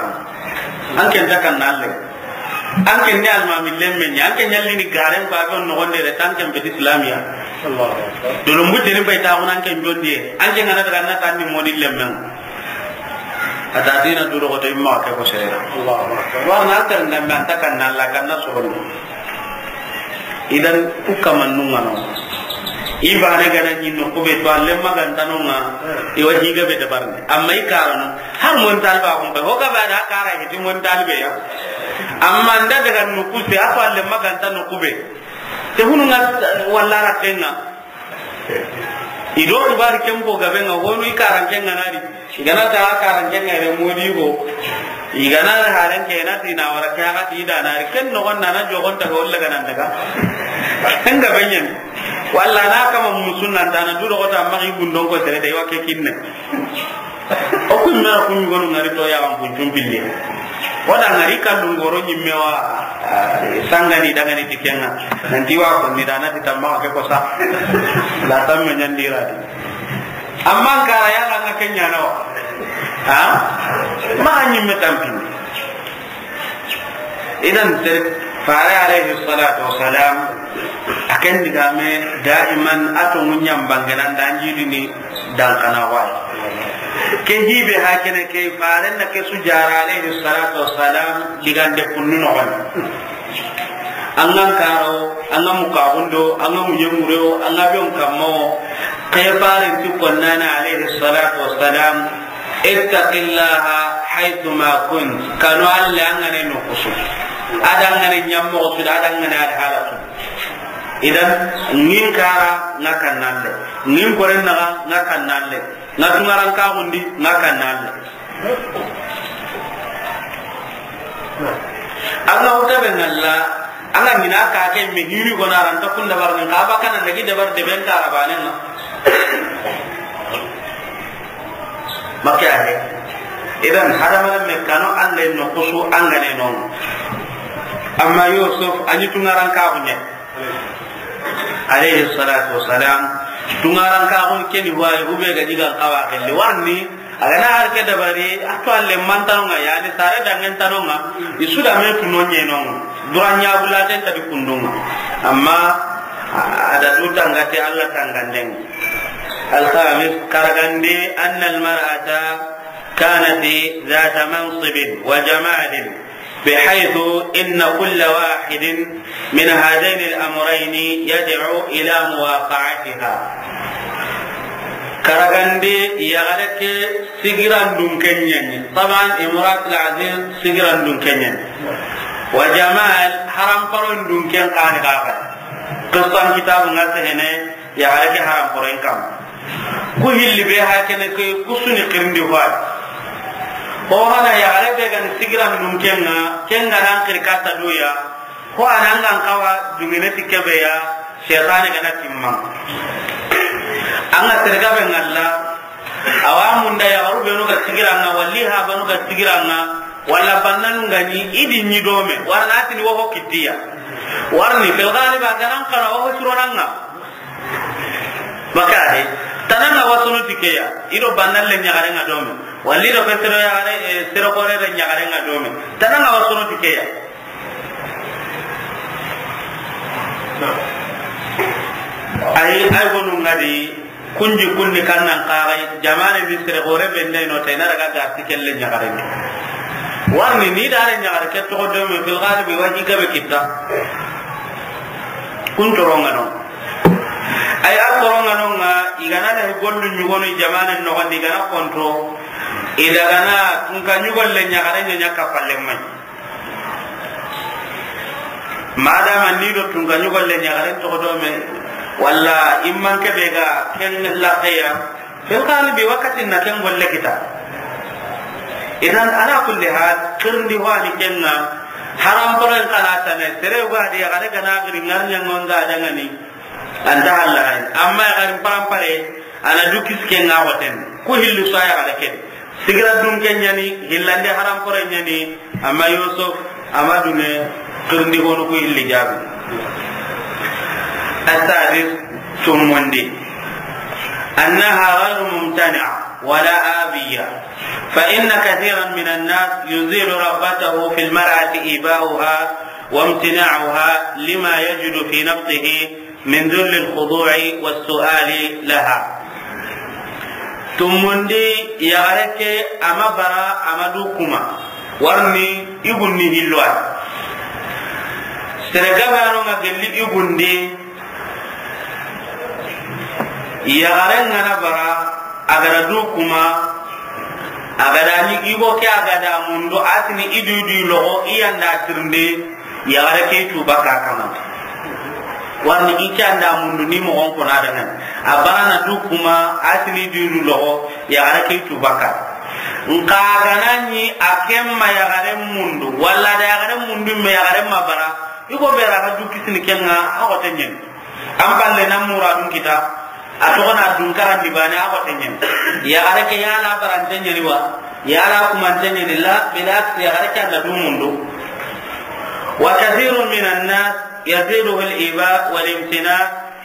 An ken ta kan nalle. An ken ni almami lemme ɲa, an ken ɲalli ni garen ba gon no gonde de tan ken be Islamiya. Allahu Akbar. Dolo mbu teni bay ta an ken jonde. An ken ngana daga na tan ni modi lemmen. Ata dina duro ko to imma ke ko sere. Allahu Akbar. Wa na tan nan man ta kan nalla kan na so. Idan, ku kaman nungano. I bane gana ɲi no kube to alle magantano nga. I wa higa be dabarne. Amma i karano. Har mon talba kun be. Ho ga ba da kara hiti mon talbe ya. Amma nda daga no kuse ato alle magantano kube. Te hunu nga walla ra tenga. I do xibaari ken fo gabe nga, honu i karanke nga nari. I gana ta karanke nga re modi go. I gana haren ke na ti na wara ke ga ti da nari. Ken no gonna na jogon ta go le gana daga. Ken gabe nyen. Walla na kama musunna ta na du do ta magi gundon ko tere de wa ke kinne. O kun na kun gonu ngari to ya wan kun tumpille. Wala ngari kallu ngoro nyimme wa, ah, sangani dangani tikenga. Nanti wa ko ni dana ti tamma ke ko sa. La tamme nyandira di. Amma kara ya la nga kenya na wa. Ha? Ma nyimme tampi. Idan, sere, fare alayhi salatu wassalam, a ken digame daiman a to munyan bangana danjidini dankana wai. Ke hibe hakene ke fare na ke sujara alayhi salatu wassalam digande kunnu no. An ga karo, an ga mukabundo, an ga munyemuro, an ga biyon kammo. Ke fare ti konnana alayhi salatu wassalam, ittaqillaha haythuma kunt. Kanu Alla an ga ne no kusu. Ada an ga ne nyammo kusu, ada an ga ne ada halatu. Idan, ngin kara nga kannalle. Ngin koren naga nga kannalle. Nga tungaran kagundi nga kannalle. An ga wuta be ngalla, an ga ɲina ka ke me hiri gona ran ta kunda barne ka ba kana nagi dabar de ben kara banen na. Makke ade. Idan hadamaren me kanu Alla no kusu an ga ne no. Amma Yusuf a ɲi tungaran kaxu ɲa. Alayhi salatu wassalam. Tungaran kaxu keni wayi ube ga digan kawa kelle warni. A ga na har ke dabari a to alle mantanonga yani sare dangen tanonga. I su da me tuno ɲenonga. Duran ɲa bulaten ta di kundunga. Amma a da du tangate Alla tanganden. Alkhamis, karagande, anna almar'ata kanat dhata mansibin wa jamalin, bihaythu inna kulla wahidin min hadhayni al-amrayni yad'u ila muwaqa'atiha. Karagande, yaxare ke sigirandun keɲani. Taban, imratul aziz sigirandun keɲani. Wa jamal, haram paron dun ken kani kaga. Qissan kitabu nga sehene, yaxare ke haram poroyen kamma. Ku hilli be ha kene ke kusuni xirindi hoy. Ho hana yaxare be gani sigirandun kenga, kenga nan xiri katta duya. Ho anan gan kawa dungene ti kebe ya, shaytani gana timma. An ga terga be ngalla, awa munda yaxaru benu ga sigiranga, walli ha banu ga sigiranga, walla bannanu gani, idi ɲi dome, warana tini woho kittiya. Warni, fil ghalib, a ganan kana woho suronanga. Makade, tananga wasono tikeya, ido bannalle ɲagarenga dome. Walli do ke sere yaxare, eh, sere xoore da ɲaxare ŋa dome. Tana ŋa wa soro ti ke ya. Ay, ay gonu ŋa di, kunji kunni kannan xaxay, jamaane ni sere xoore be ndey no tay na daga ga ti kelle ɲaxare ni. Warni ni da re ɲaxare ke toxo dome, fil galibi wa i gabe kitta. Kun toro ŋa no. Ay, a toro ŋa no ŋa, i ga na da gollu ɲugonu jamaane noxon di, i ga na konto. I daga na tunka ɲugolle ɲaxare ɲa ɲa kapalle may. Madama ni do tunka ɲugolle ɲaxaren toxo dome, walla imman ke be ga ken laxeya, fil galibi wakati na ken golle kita. Idan, ala kulli hal, xirindi ho ani ken ŋa, haram poren kana tane, sere ga di yaxare ga na giri ŋarɲa ŋonga dangani, anta halla hay. Amma yaxarin parampare, ana du kisi ken ŋa waten. Ku hillu sa yaxare ken. Sigira dun ke ɲa ni, hillande haram pore ɲa ni, amma Yusuf, ama dune, xirindi honu ku hilli jaabi. Asadis, tumundi. أنها غير ممتنعة ولا آبية، فإن كثيرا من الناس يزيل رغبته في المرأة إيباؤها وامتناعها لما يجد في نفسه من ذل الخضوع والسؤال لها. Tumundi, yaxare ke, ama bara, ama du kuma. Warni, i gunni hillo ay. Sere gabe ano ŋa gelli i gundi. Yaxare ŋa na bara, a ga da du kuma. A ga da ni i go ke, a ga da mundu, a tini i du du loxo, i yanda tirinde. Yaxare ke tu baka kama. Warni i ke anda mundu ni moxon ko na dangan. A bara na du kuma, a tini du du loxo, yaxare ke tu baka. Nka ga na ni a ken ma yaxare mundu, walla da yaxare mundu me yaxare ma bara, i go be ra ga du kisini ken ŋa, a xote ɲen. An palle na muradun kita, a toxo na dun karandi bane, a xote ɲen. Yaxare ke yala barante ɲeni wa, yala kumante ɲeni la, bilax yaxare ke anda du mundu. وكثير من الناس يزيده الإيباء والامتناع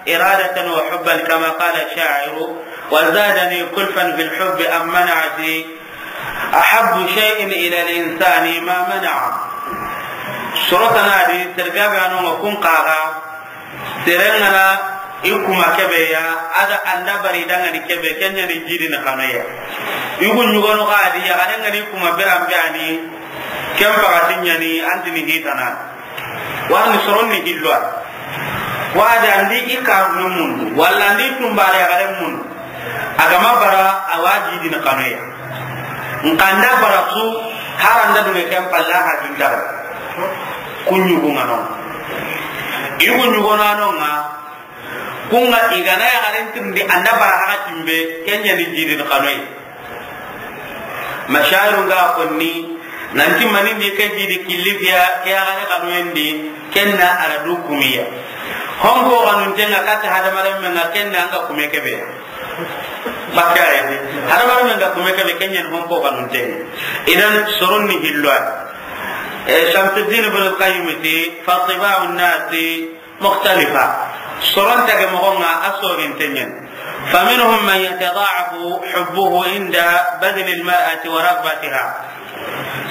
إرادة وحبا، كما قال الشاعر: وزادني كلفا في الحب أم منعتي، أحب شيء إلى الإنسان ما منع. Soro tana di, sere gabe ano ŋa kun xaxa, sere ŋa na i kuma kebe ya, a da anda bari dangani kebe, ken ɲa ni jidi na xanoya. I gu ɲugonu ga di, yaxare ŋa ni kuma beran be ani, ken pakati ɲa ni, antini hitana. Warni soron ni hillo ay. Wa da ndi i ka mun, walla ndi tumbare yaxare mun. A ga ma bara, a wa jidi na xanoya. Nka nda bara su, haranda dune ken palla ha jundara. Ku ɲugu ŋa no. I gu ɲugo na no ŋa. Ku ŋa i ga na yaxaren tirindi, anda bara haxa timbe, ken ɲa ni jidi na xanoya. Mashayiru nga konni, nanti manindi ke jidi killi fiya, ke yaxare xanoyen di, ken na a ra du kumiya. Honko xanunte ŋa kati hadamaren me ŋa, ken na anga kume kebe. Bakka ayni. Hadamaren me nga kume kebe, ken ɲa ni honko xanunte. Idan soron ni hillo ay. Eh, Shamsuddin ibn al-Qayyim ti, فطباع الناس مختلفة. Soron tage moxo ŋa a soginte ɲen. فمنهم من يتضاعف حبه عند بذل المرأة ورغبتها.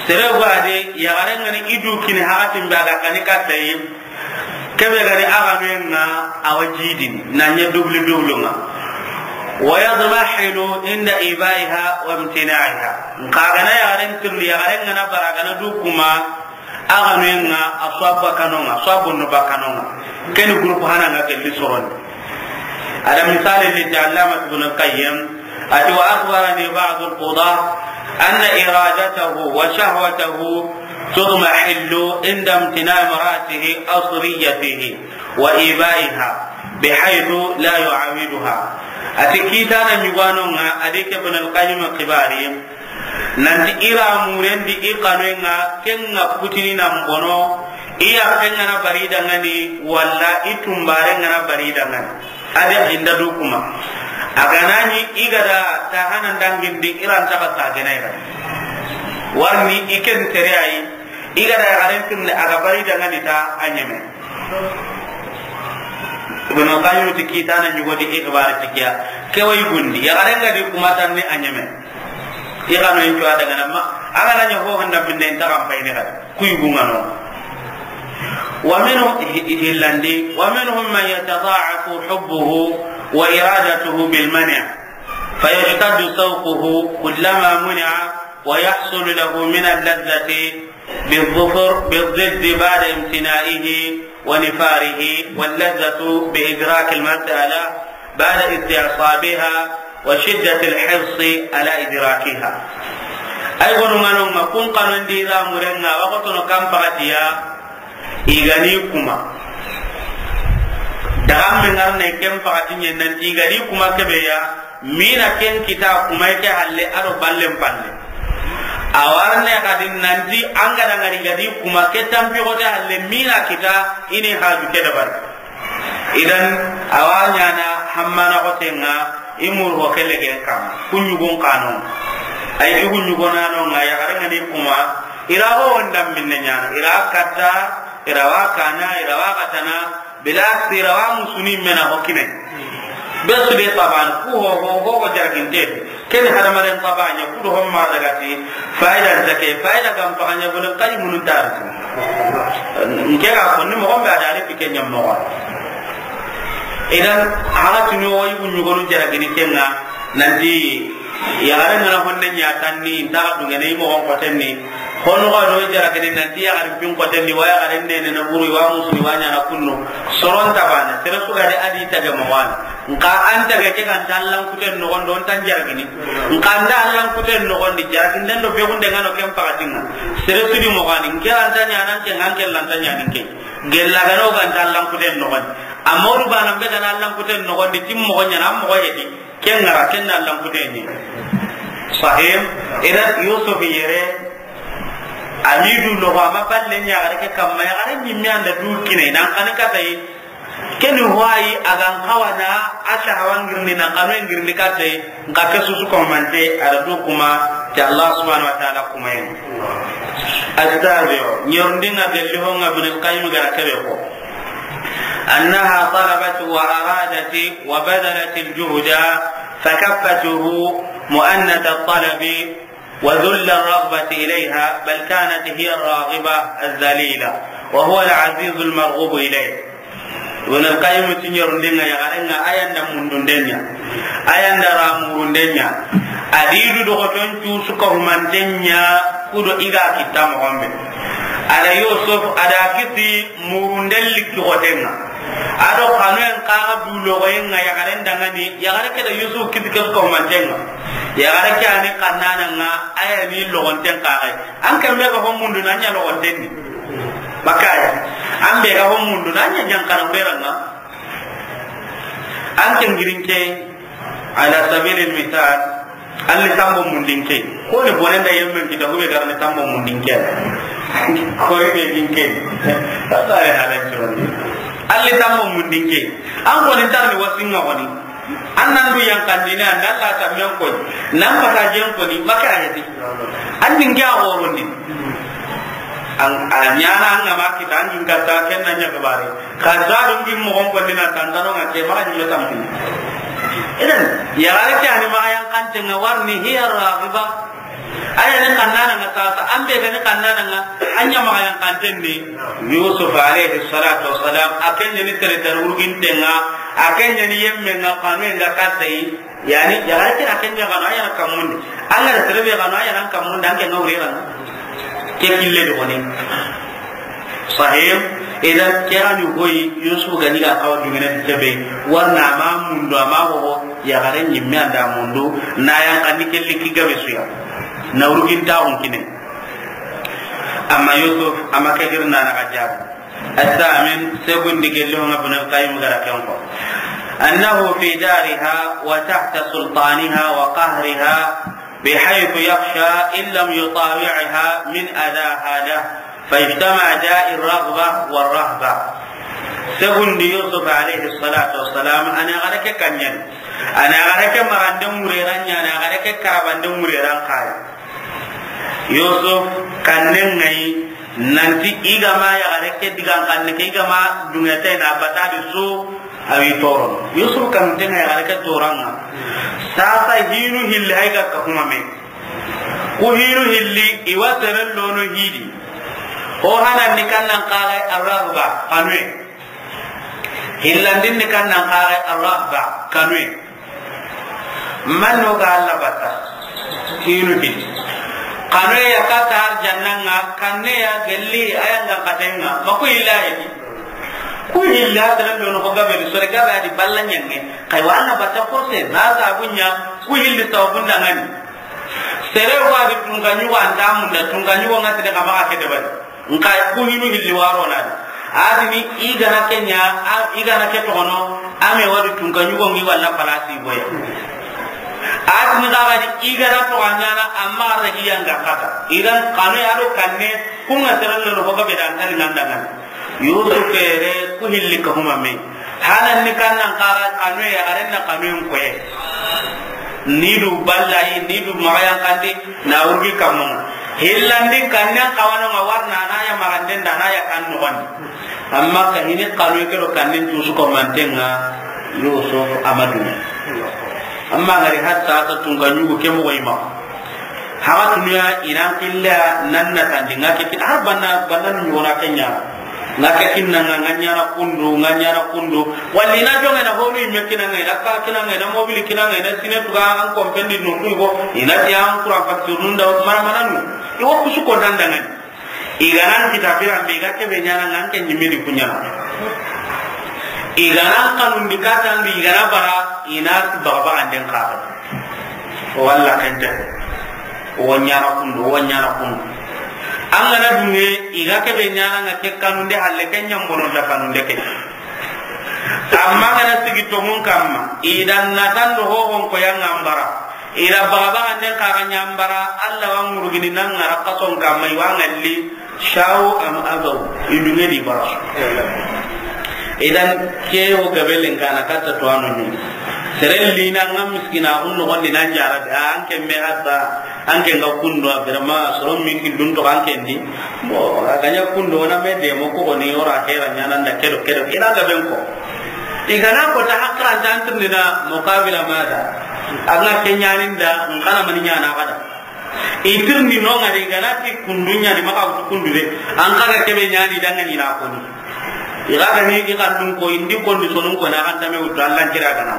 Sere ga di, yaxare ŋa ni i du kini haxatin be a ga kani katta yi. Kebe ga ni a ga me ŋa a wa jidini, na ɲa dubli dublu ŋa. ويضمحل عند إيبائها وامتناعها. Nka ga na yaxaren tirindi, yaxare ŋa na bara, ga na du kuma, a ga me ŋa a so a bakano ŋa, so a bonno bakano ŋa. Ken ni groupe hana ŋa gelli soron. A da misali ni ti Allama Ibn Qayyim, a ti: وأخبرني بعض القضاة أن إرادته وشهوته تضمحل عند امتناع امرأته أو سريته وإيبائها بحيث لا يعاودها. A ti kitana ɲugano ŋa, a di ke Ibn al-Qayyim xibari, nanti i ra murendi i xanoyen ŋa, ken ŋa kutini nan bono, i yaxen ŋa na bari dangani, walla i tumbaren ŋa na bari dangani. A di inda du kuma. A ga na ɲi i ga da ta hanan dangindi, i ra nta ga sagene ga. Warni i ken tere ay, i ga da yaxaren tirindi a ga bari dangani ta a ɲeme. Ibn Qayyim ti kitana ɲugo di i xibari ti kiya. Ke wa i gundi, yaxaren ga di kuma tanni a ɲeme. I xa no in cuwa daga na ma, a ga na ɲa ho handa minne in ta kan payini xa, ku yugu ŋa no. ومنهم، hillandi, ومنهم من يتضاعف حبه وإرادته بالمنع، فيشتد شوقه كلما منع، ويحصل له من اللذة بالظفر بالضد بعد امتناعه ونفاره، واللذة بإدراك المسألة بعد استصحابها وشدة الحرص على إدراكها. Ay gonu ŋa no ŋa kun xanon di ra murenga, waxotono kan paxatiya, i ga ni kuma. Daga me ŋarne ken paxati ɲen nanti i ga ni kuma kebe ya, mina ken kita kuma ke halle a do ballen palle. A warne xadi nanti an ga da ŋari ga di kuma ke tampi xote halle mina kita i ni haju ke dabari. Idan, a wa ɲaana hammana xoten ŋa, i muru ho kelle gen kama, ku ɲugun xano. Ay, i ku ɲugonano ŋa, yaxare ŋa ni kuma, i ra ho wondan minne ɲaana, i ra katta, i ra wa kana, i ra wa katana, bilas, i ra wa musuni mena ho kine. Be su de taban, ku ho, ho, ho, ho jaraginte. Ken hadamaren xabaɲa kudo hon ma daga ti, fayda nta ke, fayda gam paxaɲa golen xayi munu nta ri. Nke ga konni moxon be a da ri fi ke ɲa moxo. Idan, haga tuni o yugu ɲugonu jaragini ken ŋa, nanti, yaxare ŋa na honne ɲa tanni, nta xa dungene i moxon xotenni, Hono ga do jaragini nanti yaxarin pin xoten di, wa yaxaren nene na buru, wa musu, wa ɲaana kunnu. Soron tabana, sere su ga de a di tage moxo wa ni. Nka an tage ke ga nta Allan kuten noxon do, nta jaragini. Nka an da Allan kuten noxon di, jaraginden do be gunde ŋa no ken paxatin ŋa. Sere su di moxo wa ni, nke an ta ɲaana, nke ŋa nke lan ta ɲaana nke. Gella ga no ga nta Allan kuten noxon di. Amma o du bana be ga na Allan kuten noxon di, tim moxo ɲaana, moxo hedi. Ken ŋa ra, ken na Allan kuten ni. Sahim, idan Yusuf yere, a mi du loxo, a ma balle ɲa yaxare ke kamma, yaxare ɲimme an da du kine, nan xani kata yi, ken ni hoyi a ga n xawa na, a shahawa ngirni, nan xanu ngirni kata yi, nka ke su su ko mante, a da du kuma, ti Allah subhanahu wa ta'ala kuma yen. Astabiyo, ɲerundin ŋa gelli ho ŋa Ibn al-Qayyim ga ra kebe ko. أنها طلبت وأرادت وبذلت الجهد فكفته مؤنة الطلب وذل الرغبة إليها، بل كانت هي الراغبة الذليلة وهو العزيز المرغوب إليه. Ibn al-Qayyim ti ɲerundin ŋa yaxaren ŋa, a yan da mundunden ɲa, a yan da ra murunden ɲa, a di du doxoton cu su ka humanten ɲa, kudo i ga kitta moxon be. A da Yusuf, a da kisi murunden likki xoten ŋa. A do xanuyen xa ga du loxoyen ŋa yaxaren dangani, yaxare ke da Yusuf kisi ke su ka humanten ŋa. Yaxare ke a ni xannanan ŋa, a ya ni loxonten xa ga yi. An ken be ga ho mundu na ɲa loxonten ni. Bakaya. An be ga ho mundu na ɲa ɲankana wure ran ŋa. An ken girin ke, ala sabilil misal, an li tambo mundin ke. Ko ni bonen da yemmen kita, hube gar ni tambo mundin ke. Ko ri be gin ke. Ta ta re halan curon. An li tambo mundin ke. An ko ni tar ni wasin ŋa ko ni. An nan du yankandini, an nan la tammen ko ni. Nan pata jen ko ni, maka hedi. An din ke a horondi. An, a ɲaana an ga ma kita, an gin katta, ken na ɲa gabari. Ka za dun gin moxon ko ni na tantano ŋa ke, maka ɲime tampi. Idan, yaxare ke a ni maka yankanten ŋa, warni hiya ragiba. A ya ni xannanan ŋa sasa, an be ga ni xannanan ŋa, an ɲa maka yankanten ni. Yusuf alayhi salatu wassalam, a ken ni sere dar wurginten ŋa, a ken ni yemmen ŋa, xanu ŋa kata yi. Yani, yaxare ke a ken ɲa xanu, a ya na kamundi. An ga da sere be xanu, a ya na kamundi, an ke ŋa wure ran. Ke kille do ni. Sahim, idan ke a ni hoyi, Yusuf ga ni ga xawa dungene kebe, warna a ma mundu, a ma hoho, yaxare ɲimme an da mundu, na yan xani ke likki gabe su ya. Na wurginta hun kine. Amma Yusuf, a ma ke girna na ga jaabi. الثامن، segundi gelli ho ŋa Ibn al-Qayyim ga ra ken ko. أنه في دارها وتحت سلطانها وقهرها بحيث يخشى إن لم يطاوعها من أذاها له، فاجتمع داء الرغبة والرهبة. Segundi Yusuf alayhi salatu wassalam, a na yaxare ke kaɲen. A na yaxare ke marande mureran ɲa, a na yaxare ke karabande mureran xa yi. Yusuf kannen ŋa yi, nanti i ga ma yaxare ke digan xanne ke, i ga ma dungete na batadi su, a wi toro. Yusuf kanunten ŋa yaxare ke toran ŋa. Sasa hinu hilli hay ga ka kuma me. Ku hinu hilli, i wa seren lono hidi. Ho hanan ni kannan kaga arrahba, xanuye. Hillandin ni kannan kaga arrahba, xanuye. Manno ga Alla batta, hinu hilli. Xanuye ya kata arjanna nga, kanne ya gelli, aya nga katenga. Ma ku hilli ya di. Ku hilli a seren lono ho gabe, sore gabe a di balla nyange. Kay wa Alla batta forse, na sabunya, ku hilli sabun dangani. Sere wa di tunka nyugo anta munda, tunka nyugo ngati de kama ke de bari. Nka ku hinu hilli waro na di. A di ni i gana kenya, a, i gana ke toxono, a me wa di tunka nyugo ngi walla palasi boya. A di ni ga di i gana to anyana, amma ra iya nga kata. Idan xanu ya do kanne, ku nga seren lono ho gabe dan tan ngandangan. Yusuf ere ku hilli ka huma me. Hanan ni kannan kaga xanuye, yaxaren na xanuyen koye. Ni du ballayi, ni du maxayan kandi, na wurgi kammun. Hillandi kannen xawano nga warna, na ya maxanden da, na ya kan noxon. Amma ka hini xanuye ke do kannen tusu ko mantenga, Yusuf Amadu. Amma ngari hatta ta tunga nyugo ke mo ima. Haga tunuya inan killa nan na tandi nga ke kit-, har banna, banna nu nyona kenya. Nga ke kinna nga, nga nyana kundu, nga nyana kundu. Walli na jonga na honu imme kinanga, ina ka kinanga, ina mobili kinanga, ina sine tuga an kompendi no kuy go. Ina ti an kura facture nunda mara mananu. Iwa kusu ko dandangani. Iganan kita biran be ga kebe nyana ngan ke nyimidi kunyana. Iganan kanun di katan di igana bara ina baga baga den ka. Walla kente. Wo nyana kundu, wo nyana kundu. An gana dunge, iga kebe nyana nga ke kanunde halle ke nyambono da kanunde ke. Amma gana sigi tongun kamma, idan natan do hohon ko yang ambara. Ira baga baga den kaga nyambara, Allah wa ngurugini nan ngara kason kamma, iwa ngalli. Shawo am abaw, i dunge di bara. Idan ke wo gabelen kana katta to anu ni. Seren lina nga miskina hun no gondi nan jara, a, an ke me hatta, an ke nga kundo, a, vraiment, soron min ki dun to an ke ndi. Mo, a ganya kundo na me de mo ko ni ora hera nyana nda kedo kedo. Ina gaben ko. Igana ko ta hakran tantir ni na muqabila mada. Anga ke nyanin da, ngana mani nyana kada. I tirni no ngari gana ti kundu nyani maka wutu kundu de. An kaga kebe nyani danga ni na koni. I ga ni i kandun ko indi kondi sonun ko na kan tame wutu Allah kira gana.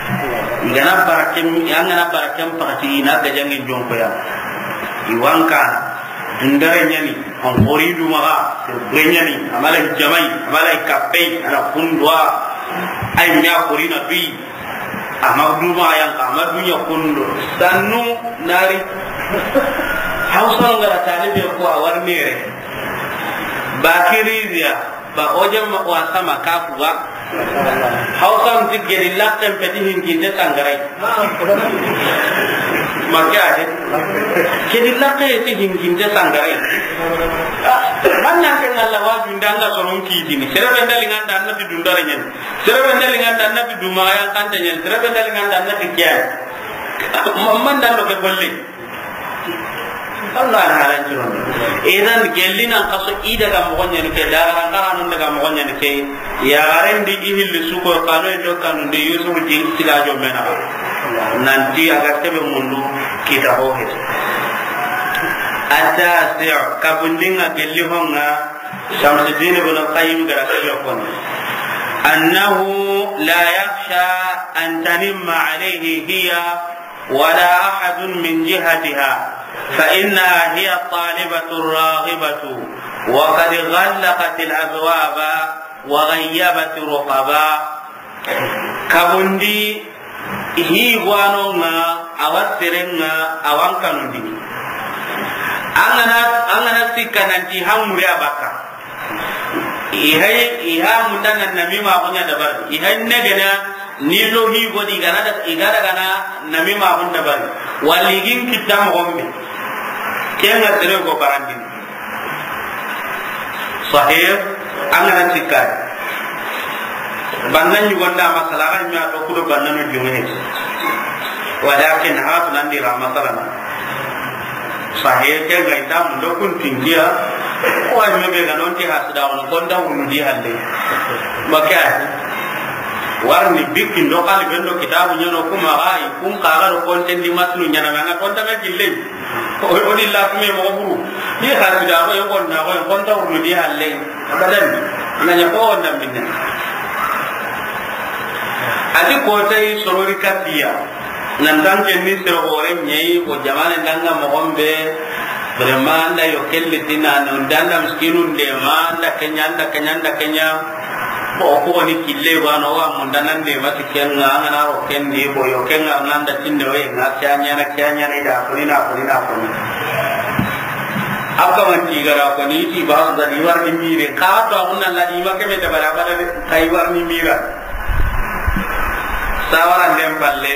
I gana barakem, i an gana barakem pakati ina ga jangin jonko ya. I wanka dundare nyani, an hori du maga, be nyani, amala jamai, amala kapei, ana kundwa. Ay nya hori na bi. Amadu ma yan ka, Amadu nya kundo. Sannu nari. Hausa ngara talibe ko a war mere. Bakiriya, ba oje ma wa sama kafu ba. Hausa nti gedi lakken peti hinkinde sangarai. Makke ade. Gedi lakke ti hinkinde sangarai. Manna ke ngalla waju ndanga soron kidini. Sere benda linganda anna ti dundare nyen. Sere benda linganda anna ti duma yan kante nyen. Sere benda linganda anna ti kiyan. Mamman dan do ke bolle. Allah halan jiron. Idan gelli nan kaso i daga mogon ɲani ke, daga ran karanun daga mogon ɲani ke. Ya garen di i hilli suko kano indo kanun di Yusuf di tiga jo mena. Nanti aga tebe mundu kita ho he. Atasi kabundinga gelli honga Shamsuddin ibn Qayyim gara ke yokon. Annahu la yakhsha an tanimma alayhi hiya ولا أحد من جهتها، فإنها هي الطالبة الراغبة، وقد غلقت الأبواب وغيبت الرقبا. Kabundi hi gwanonga, awa serenga, awan kanundi. Angana, angana sikka nanti hamuri abaka. Ihay, iha mundana namima kunya dabar. Ihay negena Ni lo hi godi gana da, i ga daga na namima hun dabari. Wali gin kitta mo gombe. Kenga tere go barandin. Sahih, angana tikka. Banna ɲugonda masala ga ɲa to kudo banna no jumene. Walakin ha bulandi ra masala na. Sahe ke ga ita mun do kun tingiya. Ko ay me be ga non ti hasda on kon da wunu di hande. Maka. Warni bikki ndo kali bendo kitabu ɲono kuma ga i kun ka ga do kon ten di matnu ɲana manga kon ta ga gille. O, o di la kuma mo buru. Ni hasidaxo, i xonnaxo, i xonta wurnu di halle. Abadan. Na ɲa ko wonda minne. A ti ko tay sorori katiya. Nan tan ke ni sero gore ɲeyi ko jamane ndanga moxo be. Vraiment, an da yo kelli ti na no, an da miskinun de ma, an da kenya, an da kenya, an da kenya. Ko, ko ni kille wa no wa mun da nan de ma ti kenga, an na ro ken di ko yo kenga, an da tinde we nga kenya na kenya ni da ko ni na ko ni na ko ni. Abba man ti gara ko ni ti ba da ni war ni mire. Ka to an na la ni ma ke me da bara bara de, kai war ni mira. Sawara ndem palle.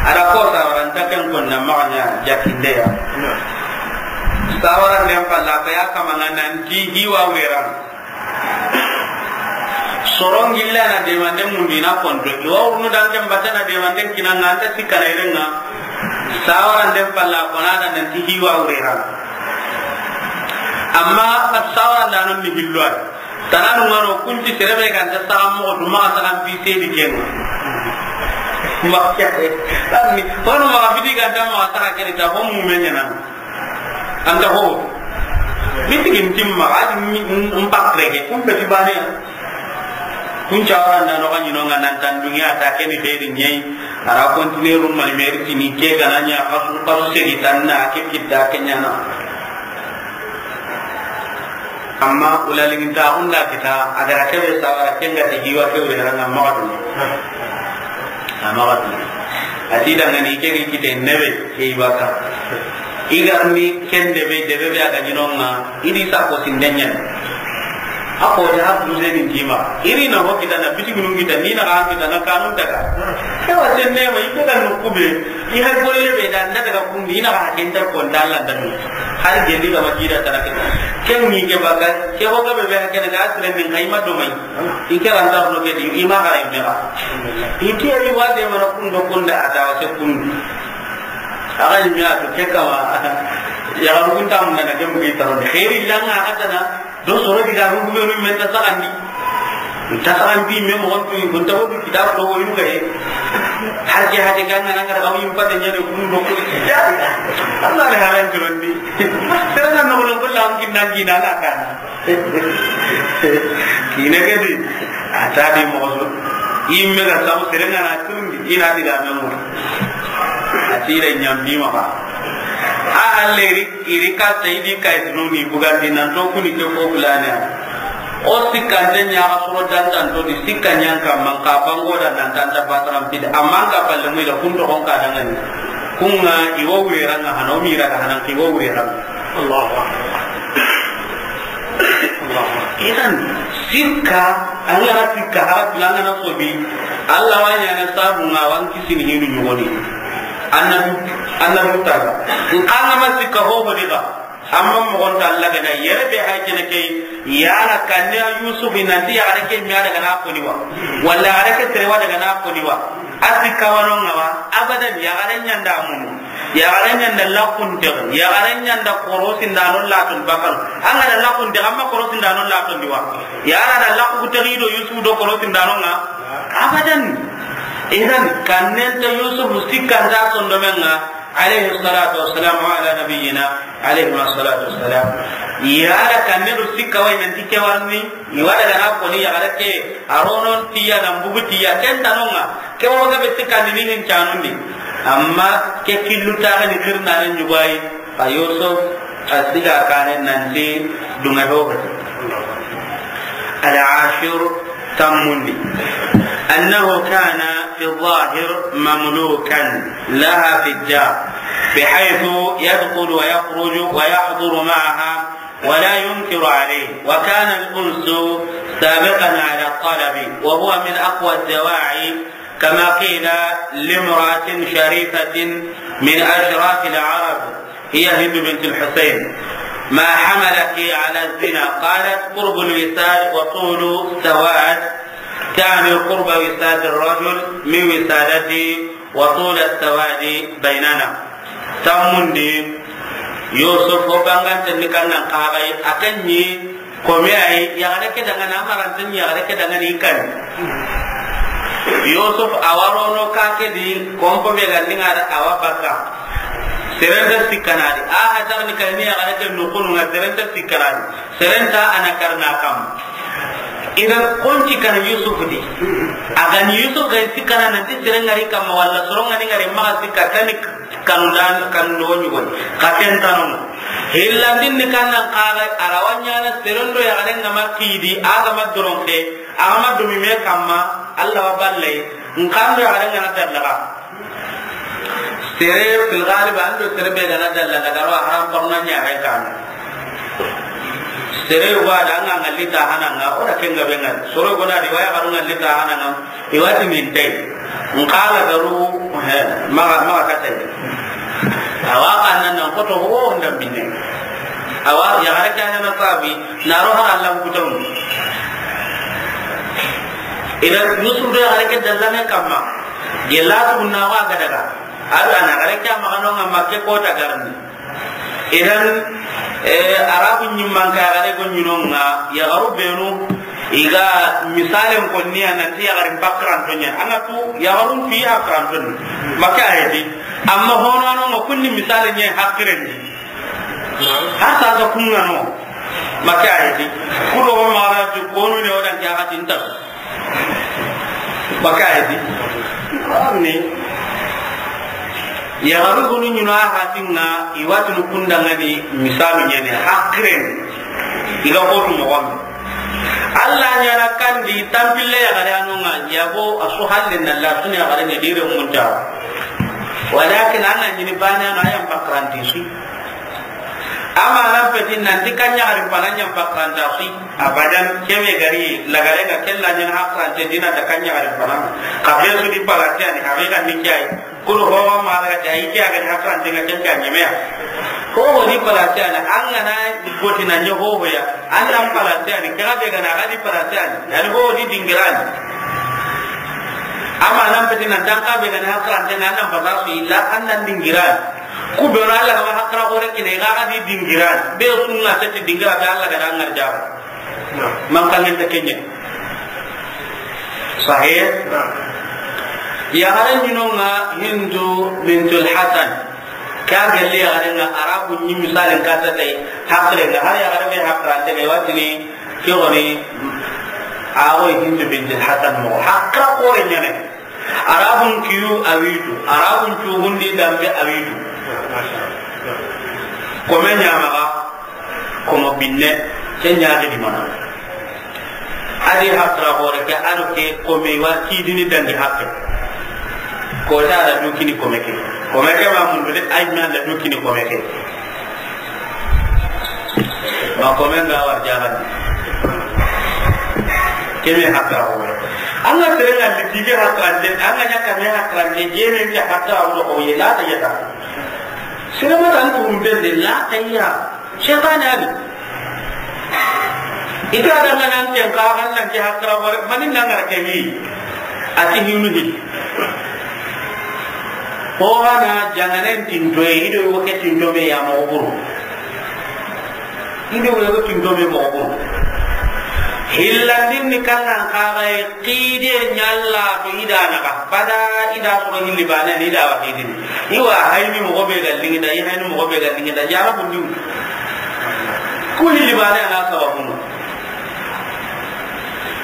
Ada ko sawara nta ken ko na maganya jakinde ya. Sawara ndem palla ko ya kamana nan ti hiwa wera. Soron gilla na demande mundi na konto. Iwa urnu dan ken batana demande kinanga anta sikana irenga. Sawara ndem palla ko na da nan ti hiwa wera. Amma sawara da non ni hilwa. Tananu ngano kunti serebe ganta saga moxo duma saga bi sedi kenga. Makya. Tanni wano ma bidi ganta ma saga kene ta ho mu menyana. Anta ho. Biti gin timma adi mpakre ke kumbe tibane. Kun cawara nda no ganyi no ngana tan dunya ta keni xeri nyai. Ara kontineru mali meri tini ke gananya kasu kasu sedi tanna ke kitta kenyana. Amma ulalingintaxun da kita, a gara kebe sawara, ken ga ti hiwa ke wure ranga maxa duni. A maxa duni. A ti dangani ke gi kite nebe, ke i baka. I garni ken debe, debe be a ga ɲinonga, i di sa ko sindenyen. A ko ta hadu zeni tima. Iri na ho kita na biti gunun kita, ni na ga kita na kanun daga. Ke wa senne ma, i ke ga no kube. I hay golle be da, na daga kundi, i na ga kenta ko dalla da. Hari gelli ga ma jida tana ke. Ken ni ke baka, ke ho ga be be ke ga asre min kay ma do mai. I ke ran da no ke di, i ma ga rai me ga. I ke ri wa de ma na kundo kunda ata wa se kundi. Aga ni mi a to ke kama. Ya ga kunta mun na ke mu ki taro. Khairi langa atana. Do soro diga ru gume men ta sagandi. Ta sagandi me mo tu ko ta wodu kitab do woyu ga e. Har ke hade ga ngana ngara awi pata nyane kun do ko. Allah ne halan jurondi. Sere na no ko la ngi nangi na la kan. Kine ke di. Ata di mo so. Imme ga sabu sere na na tundi ina diga me mo. Atire nyambi ma ba. A halleri Iri ka sayidi kay tununi bugandi nan to kuni ke ko bulane. O sikkante ɲaxa soro dantanto di sikka ɲanka man ka bango da nan tanta bataran pidi. Amma an ka palle mu ila kun to xon ka dangani. Kunga iwo wureranga hana, o mira ga hanan ki wo wureranga. Allahu akbar. Allahu akbar. Idan sikka, an ga na sikka, hara filanga na sobi. Allah wa ɲana sabu nga wan kisini hinu ɲogoni. Annabi, annabi taga. Nkanga ma sikka ho ho diga. Amma mogonta Allah gana yere be hay kene kay, yala kanne Yusuf nanti ya gare ke mi ada gana ko ni wa. Wala gare ke tere wa daga na ko ni wa. Asi kawano ngawa, abadan ya gare ɲanda munu. Ya gare ɲanda lakun te, ya gare ɲanda korosin da non latun bakal. An ga da lakun te, amma korosin da non latun diwa. Ya gare da lakku te do Yusuf do korosin da non nga. Abadan. Idan kannen ta Yusuf sikkan da sondomenga. Alayhi salatu wassalam wa ala nabiyyina alayhi salatu wassalam. Yala kanne do sikka way nanti ke warni, i wada gana ko ni yagare ke, aronon tiya nan bugu tiya, ken tanonga, ke waga be sikka ni hin canundi. Amma ke killu ta ni kirna ni ɲugai, a Yusuf, a siga kane nanti dunga ho. Al-ashir, tammundi. أنه كان في الظاهر مملوكا لها في الدار، بحيث يدخل ويخرج ويحضر معها ولا ينكر عليه، وكان الأنس سابقا على الطلب، وهو من أقوى الدواعي، كما قيل لامرأة شريفة من أشراف العرب، هي هند بنت الحسين، ما حملك على الزنا؟ قالت: قرب الوساد وطول السواد، تعني قرب وساد الرجل من وسادتي وطول السواد بيننا. Tammundi, Yusuf o bangante ni kannan kagai, a kan ni Komi ay, yaxare ke dangana, a maranten yaxare ke dangani kan. Yusuf a warono ka ke di, kompo be ga ndinga da awa baka. Seren nta sikkana a di. A hatar ni kay ni yaxare ke noxonu ŋa, seren nta sikkana a di. Seren nta a na karna kam. Idan konci kana Yusuf di. A ga ni Yusuf ga sikkana nanti seren ŋari kamma walla soron ŋa ni ŋari maxa sikka tani kanu dan kanu do ɲugoni. Ka ken tanu. Hillandin ni kannan kaga a ra wa ɲaana seren do yaxare ŋa ma kidi a ga ma doron ke. A ga ma dumi me kamma Allah wa balle. Nkan do yaxare ŋa na dallaga. Sere fil ghalib an do sere be ga na dalla daga ro haram parna ɲa hay kan. Sere wa da ŋa ŋalli ta hananga o da kenga be ŋa. Soro go na riwaya garu ŋalli ta hananga. I wati min tay. Nqala garu he maga maga katay. Awa kanan nan koto ho nda minne. Awa yaxare kana na sabi na ro har Allah kutum. Idan Yusuf do yaxare ke dalla me kamma. Gella tu na wa ga daga. Ado a na yaxare ke a maxa no ŋa Makke kota garni. Idan, eh, Arabu ɲimman ka yaxare go ɲi no ŋa, yaxaru benu, i ga misalen konni ya nanti yaxarin bakkaranto ɲa. A ŋa tu yaxarun fi hakkaranto ni. Makke a heti. Amma hono a no ŋa kunni misalen ɲa hakkiren di. Har sa ga kun ŋa no. Makke a heti. Kudo mara tu konu ne o dan ke a ga tinta. Baka edi. Ni. Yaxaru gonu ɲi no a hatinŋa, i watinu kundangani misalu ɲani hakiren. I ga kotu moxon. Allah ɲana kandi tampille yaxare a no ŋa, yago a su halle na la suni yaxare ɲa dire munta. Walakin an na ɲini bane a no a yan bakkaranti su. Amma nan peti nanti kan ɲaxarin fana ɲa bakkaranta su. Abadan, kebe gari lagare ŋa kella ɲana hakkarante dina da kan ɲaxarin fana. Ka be su di palate ani haqiqa ni kiyai. Kulu howa ma daga jayi kiya gani hakkarante ŋa ken ka ɲemeya. Hoho di palate ani an ga na goti na ɲe hoho ya. An nan palate ani kaga be gana ga di palate ani. Yani hoho di dingirani. Amma nan peti nan tan ka be gana hakkarante ŋa an nan fasa su illa an nan dingirani. Ku be no Allah ga ma hakkara gore kine ga ga di dingira. Be sunna te ti dingira be Allah ga da ŋar jaba. Man kan ta kenye. Sahih. Ya haran ɲi no ŋa Hindu bintul Hasan. Ka gelle ya haran ŋa Arabu ɲi misalin ka ta tay. Hakre ŋa har ya haran be hakra te be watini. Ke woni a wo Hindu bintul Hasan mo hakra gore ɲane. Arabun kiyu a witu, Arabun cugundi dambe a witu. Kome ɲamaga, komo binne, ke ɲaxi di mana. Adi hakra gore ke, ado ke kome wa kidini dangi hakke. Ko ta da dukini kome ke. Kome ke ma mundu de, ay na da dukini kome ke. Ma komen ga war jagan. Kebe hakka ho. An ga tere ŋa liti ke hakka de, an ga ɲa kame hakka de, jeme ke hakka ho ko ye la ta yata. Sirama tan turum bende la ta ya. Shaytan ani. Ita da ŋa nan ken ka han nan ke hakka ho mani nan ga ke mi. Ati hinu hi. Ko hana janganen tintoye, i do wo ke tinto me ya moxo buru. I do wo ke tinto me moxo buru. Hillandin ni kannan kaxaye, xide ɲalla to i da naxa. Bada i da soro hilli bane ni i da wa xidini. I wa hayni moxo be ga liŋi da, i hayni moxo be ga liŋi da, jara bundi. Ku hilli bane a na sababu no.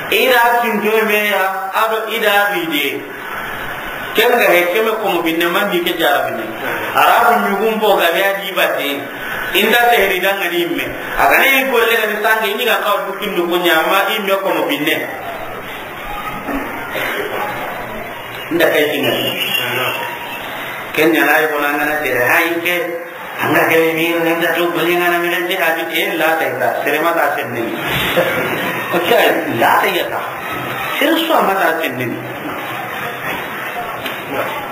I da tinto me ya, ado i da xide. Ken ga he, keme komo binne, man ni ke jara binne. Arabu ɲugun bo ga be a di bate. Inda sehri danga ni me. A ga ne golle ga ni sange ni ga ka du kindu ko ɲa ma i me komo binne. Nda kay tinga. Ken ɲa na yi ko na ngana tere hay ke. Anga kebe mi ren da to bali ngana mi ren da bi e la ta ita. Sere ma ta senne ni. Ko ta la ta yata. Sere so ma ta senne ni.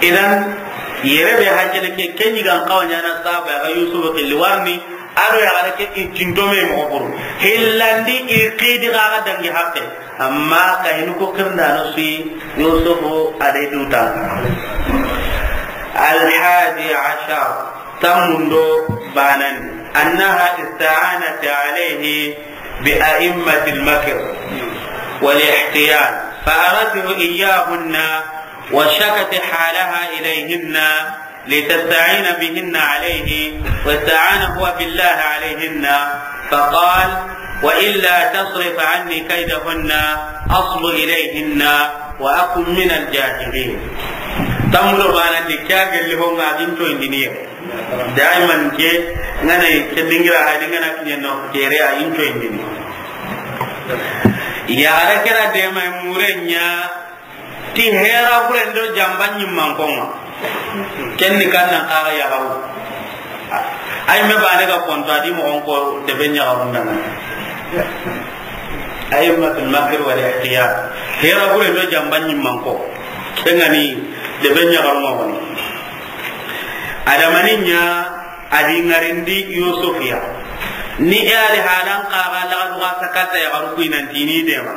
Idan yere be hajjele ke kenyi gan kawanya na saba ga Yusuf ke liwarni. Ado ya gare ke i tinto me mo buru. Hillandi i qidi ga ga dangi hakke. Amma ka hinu ko kirnda no si Yusuf a de duta. Al hadi ashar. Tammundo banan, أنها استعانت عليه بأئمة المكر والاحتيال، فأرته إياهن وشكت حالها إليهن، لتستعين بهن عليه، واستعان هو بالله عليهن، فقال: وإلا تصرف عني كيدهن أصب إليهن وأكن من الجاهلين. Tammu do bana di kya gelli ho nga din to indiniye. Daiman ke ngana ke dingira hadi ngana kinyano kere a into indini. Ya ara kera de mai murenya ti hera gure ndo jamba nyimman konga. Kenni kannan kaga ya garu. Ay me bane ga konto adi mo on ko de benya garun dana. Ay ma fil makr wal ihtiyar. Hera gure ndo jamba nyimman ko. Kengani de benya garun mo ni. Adamani nya adi ngarindi Yusuf ya. Ni e ali halan kaga la duga sakata ya garu kuinan tini de ma.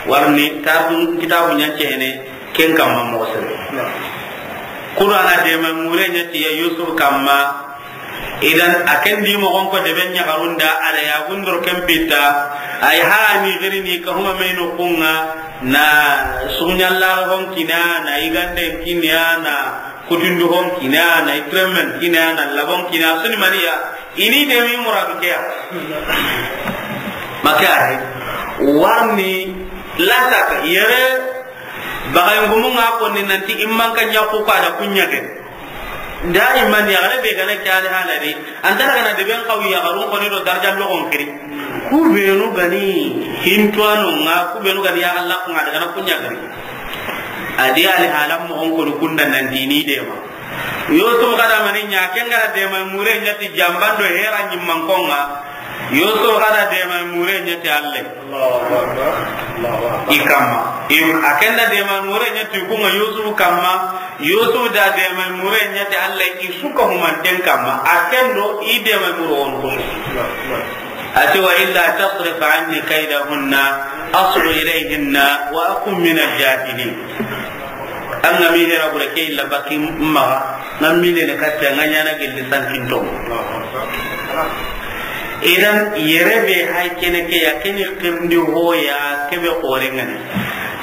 Warni tarun kitabu nyancene ken kamma mo sere. Qur'ana de ma mure nyati ya Yusuf kamma. Idan aken di mo gon ko de benya garunda ala ya gundor ken pitta. Ay ha ni gari ni ka huma meno kunga na sunyalla hon kina na igande kinya na kutundu hon kina na itremen kina na labon kina suni maniya. Ini de mi muradu ke ya. Maka ay warni la saka yere. Bagay ngumu nga ko ni nanti imman ka nya ko ka da kunya ke. Da imman ya gare be gana kyale halari. Antara gana de ben kawi ya garun ko ni do darja lo gon kiri. Ku benu gani hintuano nga ku benu gani ya Allah ko nga daga na kunya kiri. Adi ali halam mo on ko kunda nan dini de ma. Yusuf kada mani nya kengara de ma mure nyati jambando hera nyimman konga. Yusuf kada de ma mure nyati Allah. Allahu Akbar. Allahu Akbar. I kamma. I, akenda de ma mure nyati kunga Yusuf kamma. Yusuf da de ma mure nyati Allah i suka humanten kamma. Akendo i de ma mure on ko. Ati: وإلا تصرف عني كيدهن أصب إليهن وأكن من الجاهلين. An ga mi hera gure ke illa baki maga, nan mi ne katta nga nyana gelli sankinto. Idan yere be hay kene ke ya kene kirndi ho ya kebe kore ngani.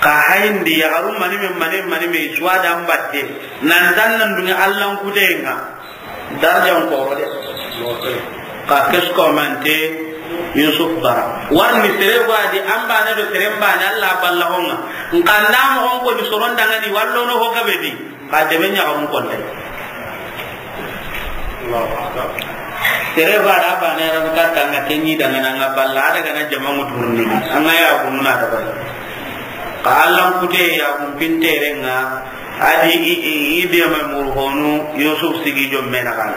Ka hayndi ya garu mani me mani mani me suwa da mbatte. Nan tan nan dunga Allah kutenga. Darjan koro de. Ka kesko mante Yusuf bara. Warni sere gwa di ambane do sere mbane Allah balla honga. Nkanda mo on ko di soron danga di wallo no ho gabe di. Ka de benya on ko de. Sere gwa da bane ran ka tanga kenyi danga na nga balla daga na jama muturni. Anga ya gununa da balla. Ka Allah kute ya gun pinterenga. Adi i, i, i de mai murhonu Yusuf sigi jomme na kan.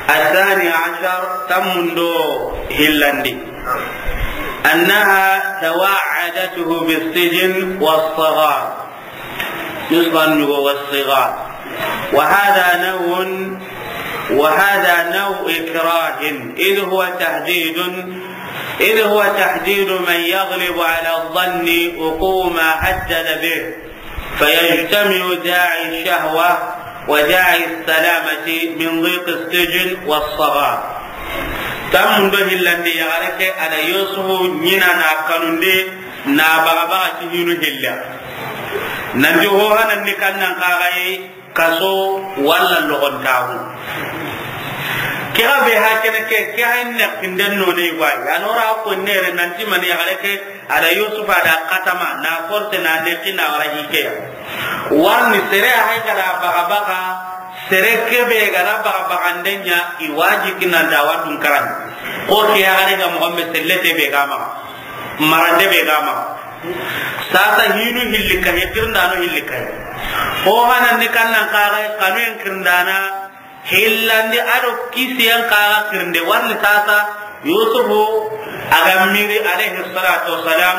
الثاني عشر, tammundo hillandi. أنها توعدته بالسجن والصغار. نصف النبوة والصغار. وهذا نوع، وهذا نوع إكراه، إذ هو تهديد، إذ هو تهديد من يغلب على الظن وقوع ما هدد به. فيجتمع داعي الشهوة وداعي السلامة من ضيق السجن والصغار. Tammundo hillandi yaxare ke a da Yusufu ɲina na kanundi na baga baga ti hinu hilla. Nanti ho hanan ni kannan kaxayi kaso walla loxontaxu. Ke xa be ha kene ke, ke xa ne kinden no ne wa. Anora ko nere nanti mani yaxare ke A da Yusufa da katama na force na nexi na wara hikeya. Warni sere a hay gada baga baga, sere kebe gada baga baga ndenya i waji kinanda watun karan. Ko ke ya gare ga mo be sellete be ga ma. Marande be ga ma. Sasa hinu hilli ka he kirndano hilli ka he. Ko hanan ni kannan kare kanu en kirndana. Hillandi a do kisiyen kaga kirinde warni sasa Yusufu a ga miri alayhi salatu wassalam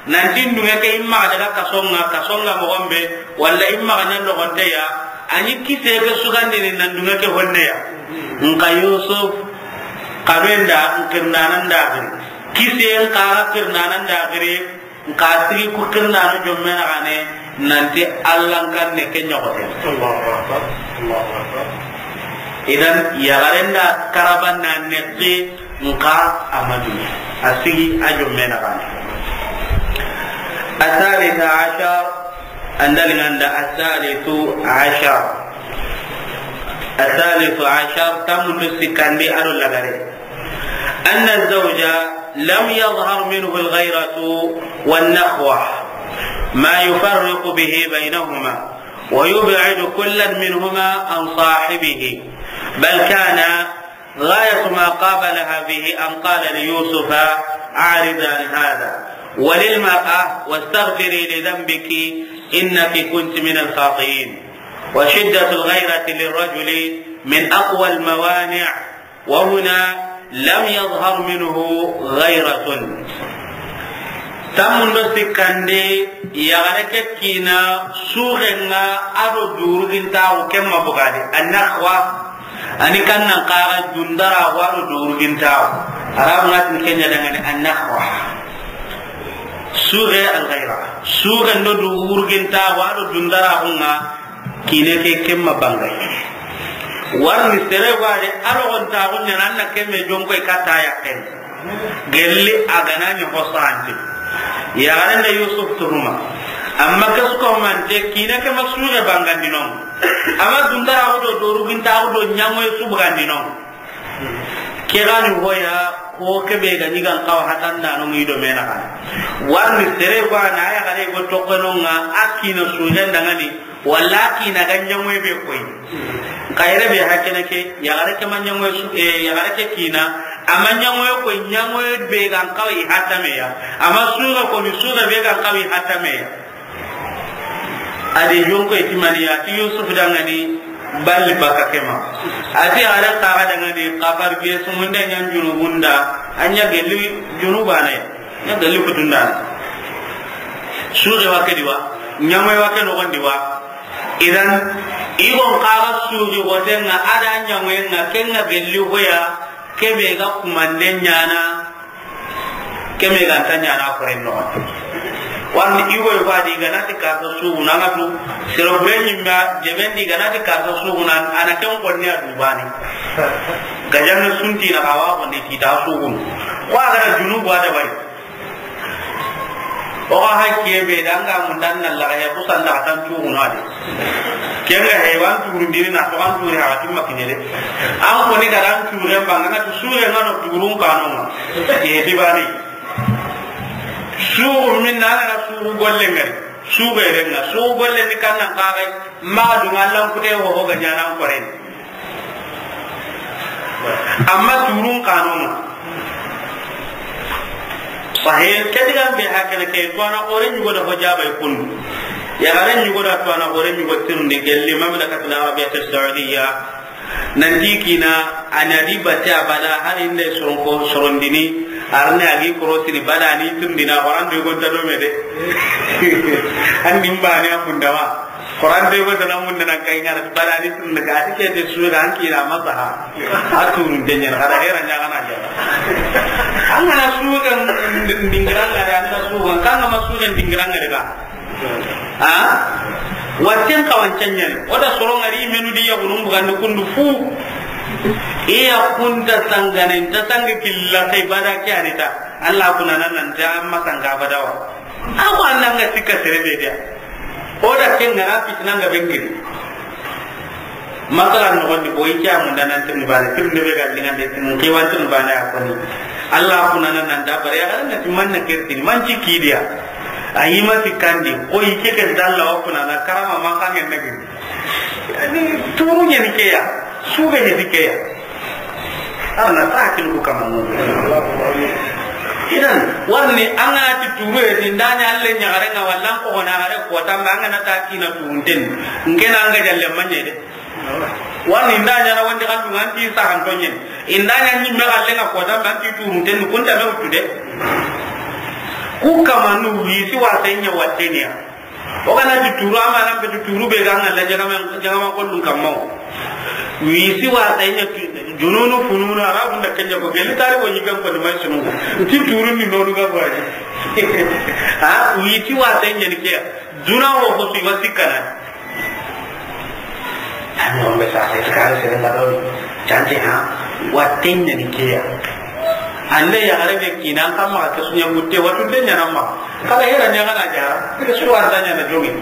nanti ndunge ke imma daga kasonga, kasonga mogonbe, walla imma ga ɲa logonteya, a ɲi kisiye ke sugandini nan ndunge ke honneya. Nka Yusuf, kabenda nkirnananda giri. Kisiyen kaga kirnananda giri. Nka sigi ku kirnano jomme na gane nanti Allan kanne ke ɲogote. Allahu akbar. Allahu akbar. Idan yagarenda karabanna neqi nka amadu a sigi a jomme na gane. الثالث عشر An da li ŋa nda, الثالث عشر. الثالث عشر, tanmundu sikkandi a do lagare. أن الزوج لم يظهر منه الغيرة والنخوة ما يفرق به بينهما ويبعد كلا منهما عن صاحبه، بل كان غاية ما قابلها به أن قال ليوسف: أعرض عن هذا، وللمرأة: واستغفري لذنبك إنك كنت من الخاطئين. وشدة الغيرة للرجل من أقوى الموانع، وهنا لم يظهر منه غيرة. Tanmundu sikkandi, yaxare ke kiina suxenŋa a do durugintaxu, ken ma bugadi, النخوة. A ni kannan xaxa dundaraxu a do durugintaxu. Arabu ŋa ti ken ɲa dangani النخوة. Suxe, الغيرة. Suxe ndo durugintaxu a do dundaraxu ŋa, kiine ke, ken ma bangay. Warni sere wa de, a rogontaxu ɲaana, an na ke me jonkoy katta yaqqen. Gelli a ga na ɲi hosanti. Yaxare nda Yusuf tuhuma. Amma ke su ko mante, kiine ke ma suxe bangandi no. Amma dundaraxu do durugintaxu do ɲaŋoye su bugandi no. Ke ga ni hoya, ko ke be ga ni gan xawa hatanda no ŋi do me naxa. Warni sere wa na yaxare go toxo no ŋa, a kiina suxen dangani, walla a kiina ga ɲaŋoye be koy. Xa yere be hakene ke, yaxare ke ma ɲaŋoye su, eh, yaxare ke kiina, a ma ɲaŋoye koy, ɲaŋoye be gan xawa i hatameya. A ma suxe ko ni suxe be gan xawa i hatameya. A di jonko i ti mani ya, a ti Yusuf dangani, balli baka ke ma. A ti a da xaxa dangani, xafar biye sumunde ɲa junubunda, a ɲa gelli junubane, ɲa gelli kutundane. Suxe wa ke di wa, ɲaŋoye wa ke noxon di wa. Idan, i gon xaxa suxi xotenŋa, a da ɲaŋoyenŋa, kenŋa gelli hoya, ke be ga kumande ɲaana, Ke me ga nta ɲaana koren noxon. Warni i go i fadi ga na ti karta suxuna ŋa tu. Sero bure ɲimma jemendi ga na ti karta suxuna, a na ken konni a dubani. Gajanŋa sunti na xawa konni ti ta suxun. Ko a ga na junubu a da bari. O ga hakke be danga mun dan na la ya kusan da tan suxuna de. Kenŋa haywan turundini na to an turi ha timma kiɲe de. An koni ga dan turen banga na tu sure ŋa no turun kanonŋa. E dibani. Suxu min na na suxu golle ŋari. Suxu ere ŋa. Suxu golle ni kannan xaxay. Ma du ŋa lan kute ho ho ga ɲaana an koren. Amma turun kanonŋa. Sahih, ke digan be hakene ke, to a na xore ɲugo da ho jabay kundu. Yaxare ɲugo da to a na xore ɲugo tirindi gelli Mamlakatul Arabiyatus Saudiya. Nanti kiina, a na di bate abada, hari nde soronko, sorondini, arne a gi korosini, bada ni tundina, waran do gonta do me de. An nim bani a kundawa. Quran de ko tana mun nan kai ngara, bada ni tun ga ti ke de su ga an kira masaha. A turun de ɲan, kada hera ɲa kana ja. An ga na su ga dingiranga de, an na su ga, kan ga ma su ga dingiranga de ba. Ha? Watten kawancan ɲani. O da soro ŋari menu di ya gunun bugandi kundu fu. Iya kunta sangane, ta sangi killa kai bada ke anita. Allah kuna nan nan ta amma sanga badawa. Ako annanga sikka sere be dia. O da ken ngara fitina nga bengiri. Masala noxondi, boyi ke a munda nan tirni bane, tirni be ga lingande tirni, ke wan tirni bane a koni. Allah kuna nan nan da bare, a ga na ti man na kertini, man ci kidiya. A yi ma ti kandi, o yi ke ke dalla wa kuna na karama man kan ngen nagi. Ani turu ɲeni ke ya, sube ɲeni ke ya. Arna ta hakilu ku kama mo. Idan, warni an ga na ti turu e, ti ndanya alle ɲagare nga wallan ko na gare ko tamba an ga na ta kina turunten. Ngena an ga jalle manye de. Wani nda ɲana wandi xandu ŋa nti saxanto ɲeni. Inda ɲa ɲimme xalle ŋa kota mba nti turunten kunta me wutu de. Ku kamanu wisi wa senya watteniya. O kana ti turu ama nan be ti turu be ga ŋalla jagama, jagama kollun kamma. Wisi wa senya tu-, jununu fununu arabu nda kenya ko gelli tari ko ɲigan ko ni mai sunu. Ti turu ni nonu ga bari. Ha, wisi wa senya ni ke. Duna wo ko si wasi kana. Ani on be sa se ka se na do. Jante ha. Watten ɲa ni ke ya. Ande ya gare be kinan kamma ke sunya mutte watu den ɲa namma. Kala hera ɲa kana jara. Ke su wa da ɲa na jongi.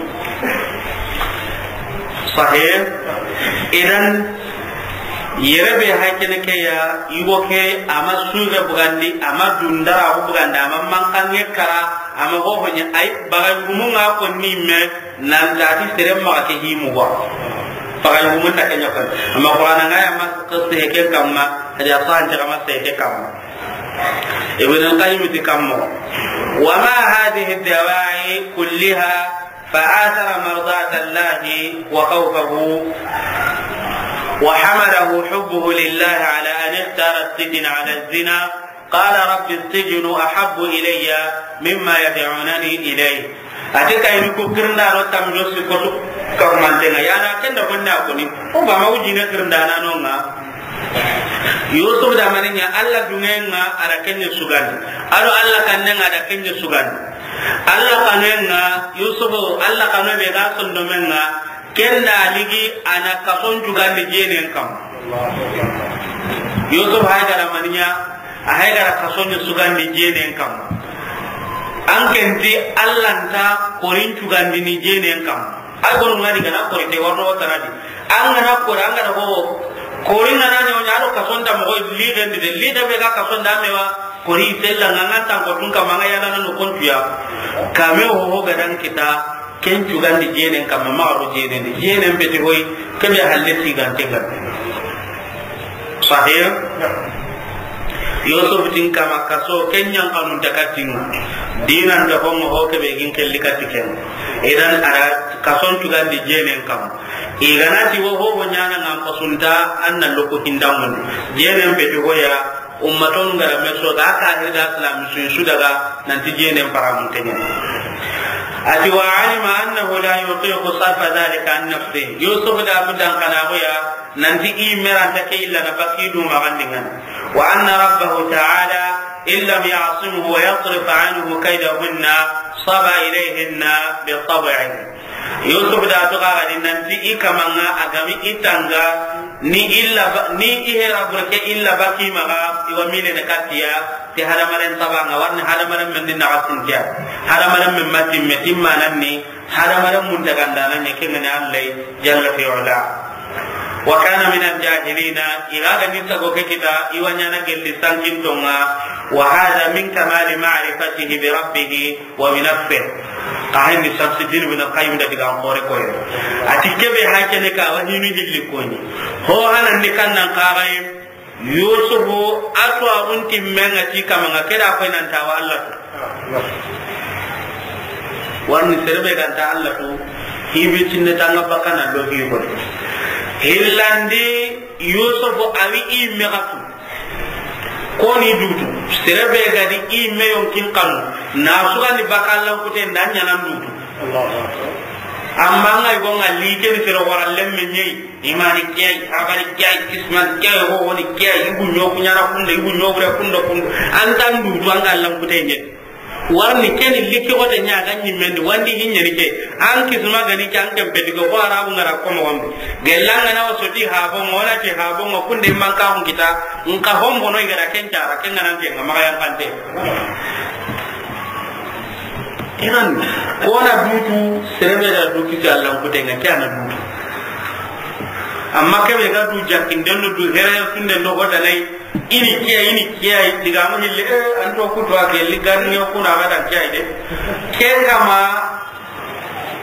Sahih. Idan, yere be haykene ke ya, yugo ke, ama suge bugandi, ama dundara bugandi, ama mankange kara, ama hohonya, ay, bagay gumunga ko ni me, nan dati sere maxa ke himu wa. Bagay gumun ta kenya kan. Ama Qur'ana ngaya ma qisse ke kamma, hadiya sahan ta kama se ke kamma. Ibn al-Qayyim ti kammo: ومع هذه الدواعي كلها فآثر مرضاة الله وخوفه، وحمله حبه لله على أن اختار السجن على الزنا، قال: رب السجن أحب إلي مما يدعونني إليه. A ti kayini ku kirindano tammi do sikko su kahumantenga. Yana kenda gonna koni. O ba ma wujine kirindananonga. Yusuf da maninya, Allah dungenga ada kenya sugandi. Ado Allah kannenga ada kenya sugandi. Allah kanenga, Yusuf, Allah kanu be ga sondomenga, kenda ligi ana kason jugandi jenen kam. Yusuf haygara maninya, a haygara kason sugandi jenen kam. An kenti Allah nta korin jugandi ni jenen kam. Ay gonu ngadi gana kori te warno tanadi. An gana kori, an gana ho. Kori ngana nyo nya do kasonda mo li gendi de, li da be ga kasonda me wa. Kori sella nganga tan ko tun ka manga yana no kontuya. Kame ho ho gadan kita, ken jugandi jenen kam, ma ro jenen de. Jenen beti hoy, kebe halle sigante ga. Sahih. Yusuf tin kama kaso, ken yan kanun ta katin. Dinan da homo ho kebe gin kelli katiken. Idan ara kason jugandi jenen kam. Iganati wo ho wo nyana ngam kasunta, anna loko hindamun. Jenen beti hoya, ummaton gara meso ga ka hirda islam su, su daga nanti jenen paramun tenyen. Ati: وعلم أنه لا يطيق صرف ذلك عن نفسه. Yusuf da budan kana hoya, nanti i meranta ke illa na bakidu magandingan. وأن ربه تعالى إن لم يعصمه ويصرف عنه كيدهن صبا إليهن بطبعه. Yusuf da to ga gadi nanti i kamanga agami i tanga ni illa ba-, ni i hera burke illa baki maga iwa mile ne katiya ti hadamaren tabanga warni hadamaren men din na gasintiya. Hadamaren men matin metin manan ni hadamaren mun daga ndana ne kengani Allah jalla fi ula. وكان من الجاهلين, i ga ga ni tago ke kita, i wa ɲana gelli sankin tonga, وهذا من كمال معرفته بربه وبنفسه. Ka hayni Shamsuddin ibn Qayyim da diga xore koy. Ati kebe hakene ka wa hinu hilli koni. Ho hanan ni kannan ka ga yi. Yusufu a to a unti menga ti kamanga keda koy nan ta wa Allah. Warni serebe ganta Allah tu, hibi tinne tanga bakana do hi ko. Hillandi Yusufu awi i megatu. Koni dutu, serebe gadi i meyon kin kanu, na sugandi bakallan kute nda ɲanan dutu. Amma ngai gonga like ni sero wara lemme ɲei, imani kiyai, habari kiyai, kisman kiyai, ho woni kiyai, ibu nyoku ɲana kunda, ibu nyobure kunda kunda. Antan dutu anga lan kute ɲei. Warni keni likki xote ɲa ga ɲimmendi wandi hiɲeni ke. An kisma gani ke an ken peti ko, ko arabu ngara komo wambi. Gellanga na wasoti habongo, wala ti habongo, kunde manka hun kita, nka hombono igara ken cara, ken ganan ke nga maga yankante. Inan, kona dutu, serebe da duki ke Allah kutenga, ke ana dutu. Amma kebe ga du jakinden do du here tunden do hodanai, ini kiya, ini kiya, diga mo hille, eh, an to kutu a gelli ganni o kuna ga dan kiya de. Ken kama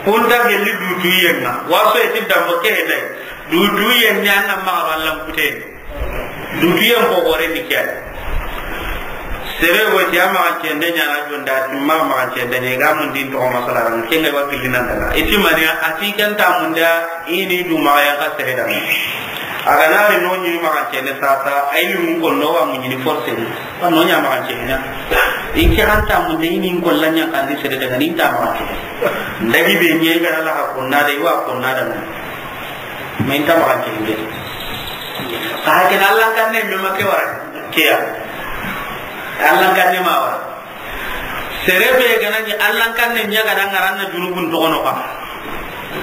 kunta gelli dutu yenga. Waso e tidda mo ke he dai. Dutu yenni an nan ma Allah kute. Dutu yen ko gore ni kiya. Sere wo ti ama cende ɲana jonda ti ma ma cende ne ga mun din to masala ran ken ga wa killina daga. Iti mani ati kan ta munda ini du ma ya ka sere da. A ga na ri no ɲi ma kan cene sasa, ay ni mun ko no wa mun ni forcé ni. Wa no ɲa ma kan cene ɲa. In ke kan ta mun de ni ko la ɲa kan di sere daga ni ta ma kan cene. Ndagi be ɲe ga la ha ko na de wa ko na da. Men ta ma kan cene de. Ka ha ke na Allah kan ne me ma ke wara. Ke ya. Allah kan ne ma wara. Serebe gana ni Allah kan ne ɲa ga da ngaran na junubun to no ka.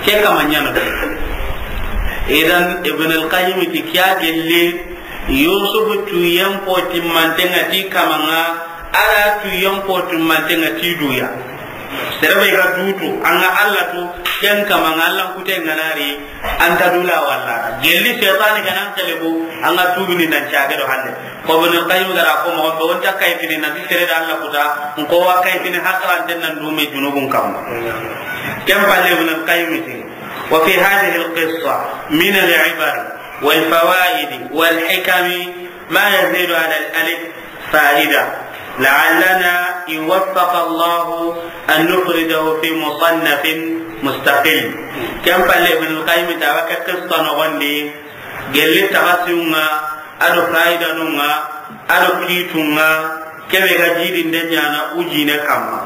Ke kama ɲana. Idan Ibn al-Qayyim ti kiya gelle Yusuf tuyen po timmantenga ti kamanga, ala tuyen po timmantenga ti duya. Sere be ga dutu, an ga Alla tu, ken kama an ga Alla kute ŋa na ri, an ta dula walla. Gelli seytaane ga na an kelebo, an ga tubini nan caage do halle. Ko Ibn al-Qayyim ga ra ko mo be, o nta kayfini na sere da Alla kuta, ko wa kayfini hakaranten nan dume junubun kamma. Ken palle Ibn al-Qayyim ti, وفي هذه القصة من العبر والفوائد والحكم ما يزيد على الألف فائدة، لعلنا إن وفق الله أن نفرده في مصنف مستقل. Ken palle Ibn al-Qayyim ta wa ke qissa noxon di, gelli taxasiŋa, a do fayidanuŋa, a do kituŋa, kebe ga jidinde ɲaana ujine kamma.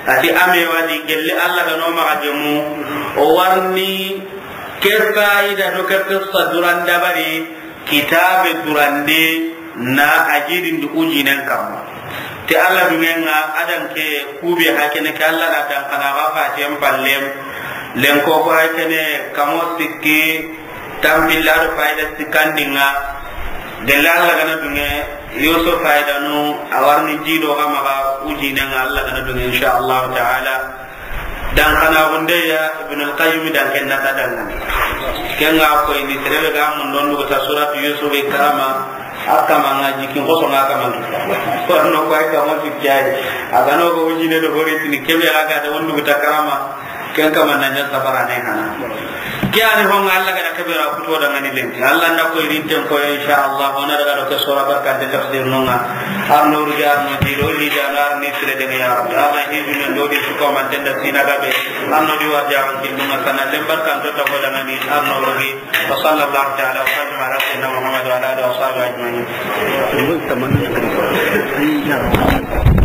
A ti a me wa di gelli Alla ga no maxa gemu, o warni ke fayida do ke qissa duran dabari, kitabe durande na a jidindi ujinen kamma. Ti Alla duŋe ŋa, a dan ke kube hakene ke Alla na dan kana ga fatiyen pallem. Lenko ko hakene kamo sikki, tampilla do fayida sikkandi ŋa. Gelli Alla ga na duŋe, Yusuf fayidanu, a warni jido ga maxa ujinen ŋa Alla ga na duŋe, insha Allah ta'ala. Dan kana gunde ya Ibn al-Qayyim dan ken na ta dan. Ken ga ko ini terebe ga mun don dugu ta surat Yusuf e karama, a kama ŋa jikin ko so ŋa kama. Ko no ko ay kama ti jay. A ga no go ujine do hori tini kebe a ga da wondu ta karama. Ken kama na ɲa sabara ne hana. Ke ani honga Alla ga da kebe ra kuto da ŋa ni lenki. Alla na ko irinten ko, insha Allah, o na daga do ke sura barka de tafsir nonga. Arno ruja, arno jiro, ni jana, arni sire de ya Rabbi. Arna hiju men do di suko man tenda sina gabe. Arno di warja an kin nonga sana lembar kan to ta ko da ŋa ni, arno rugi. وصلى الله تعالى وسلم على سيدنا محمد وعلى آله وصحبه أجمعين.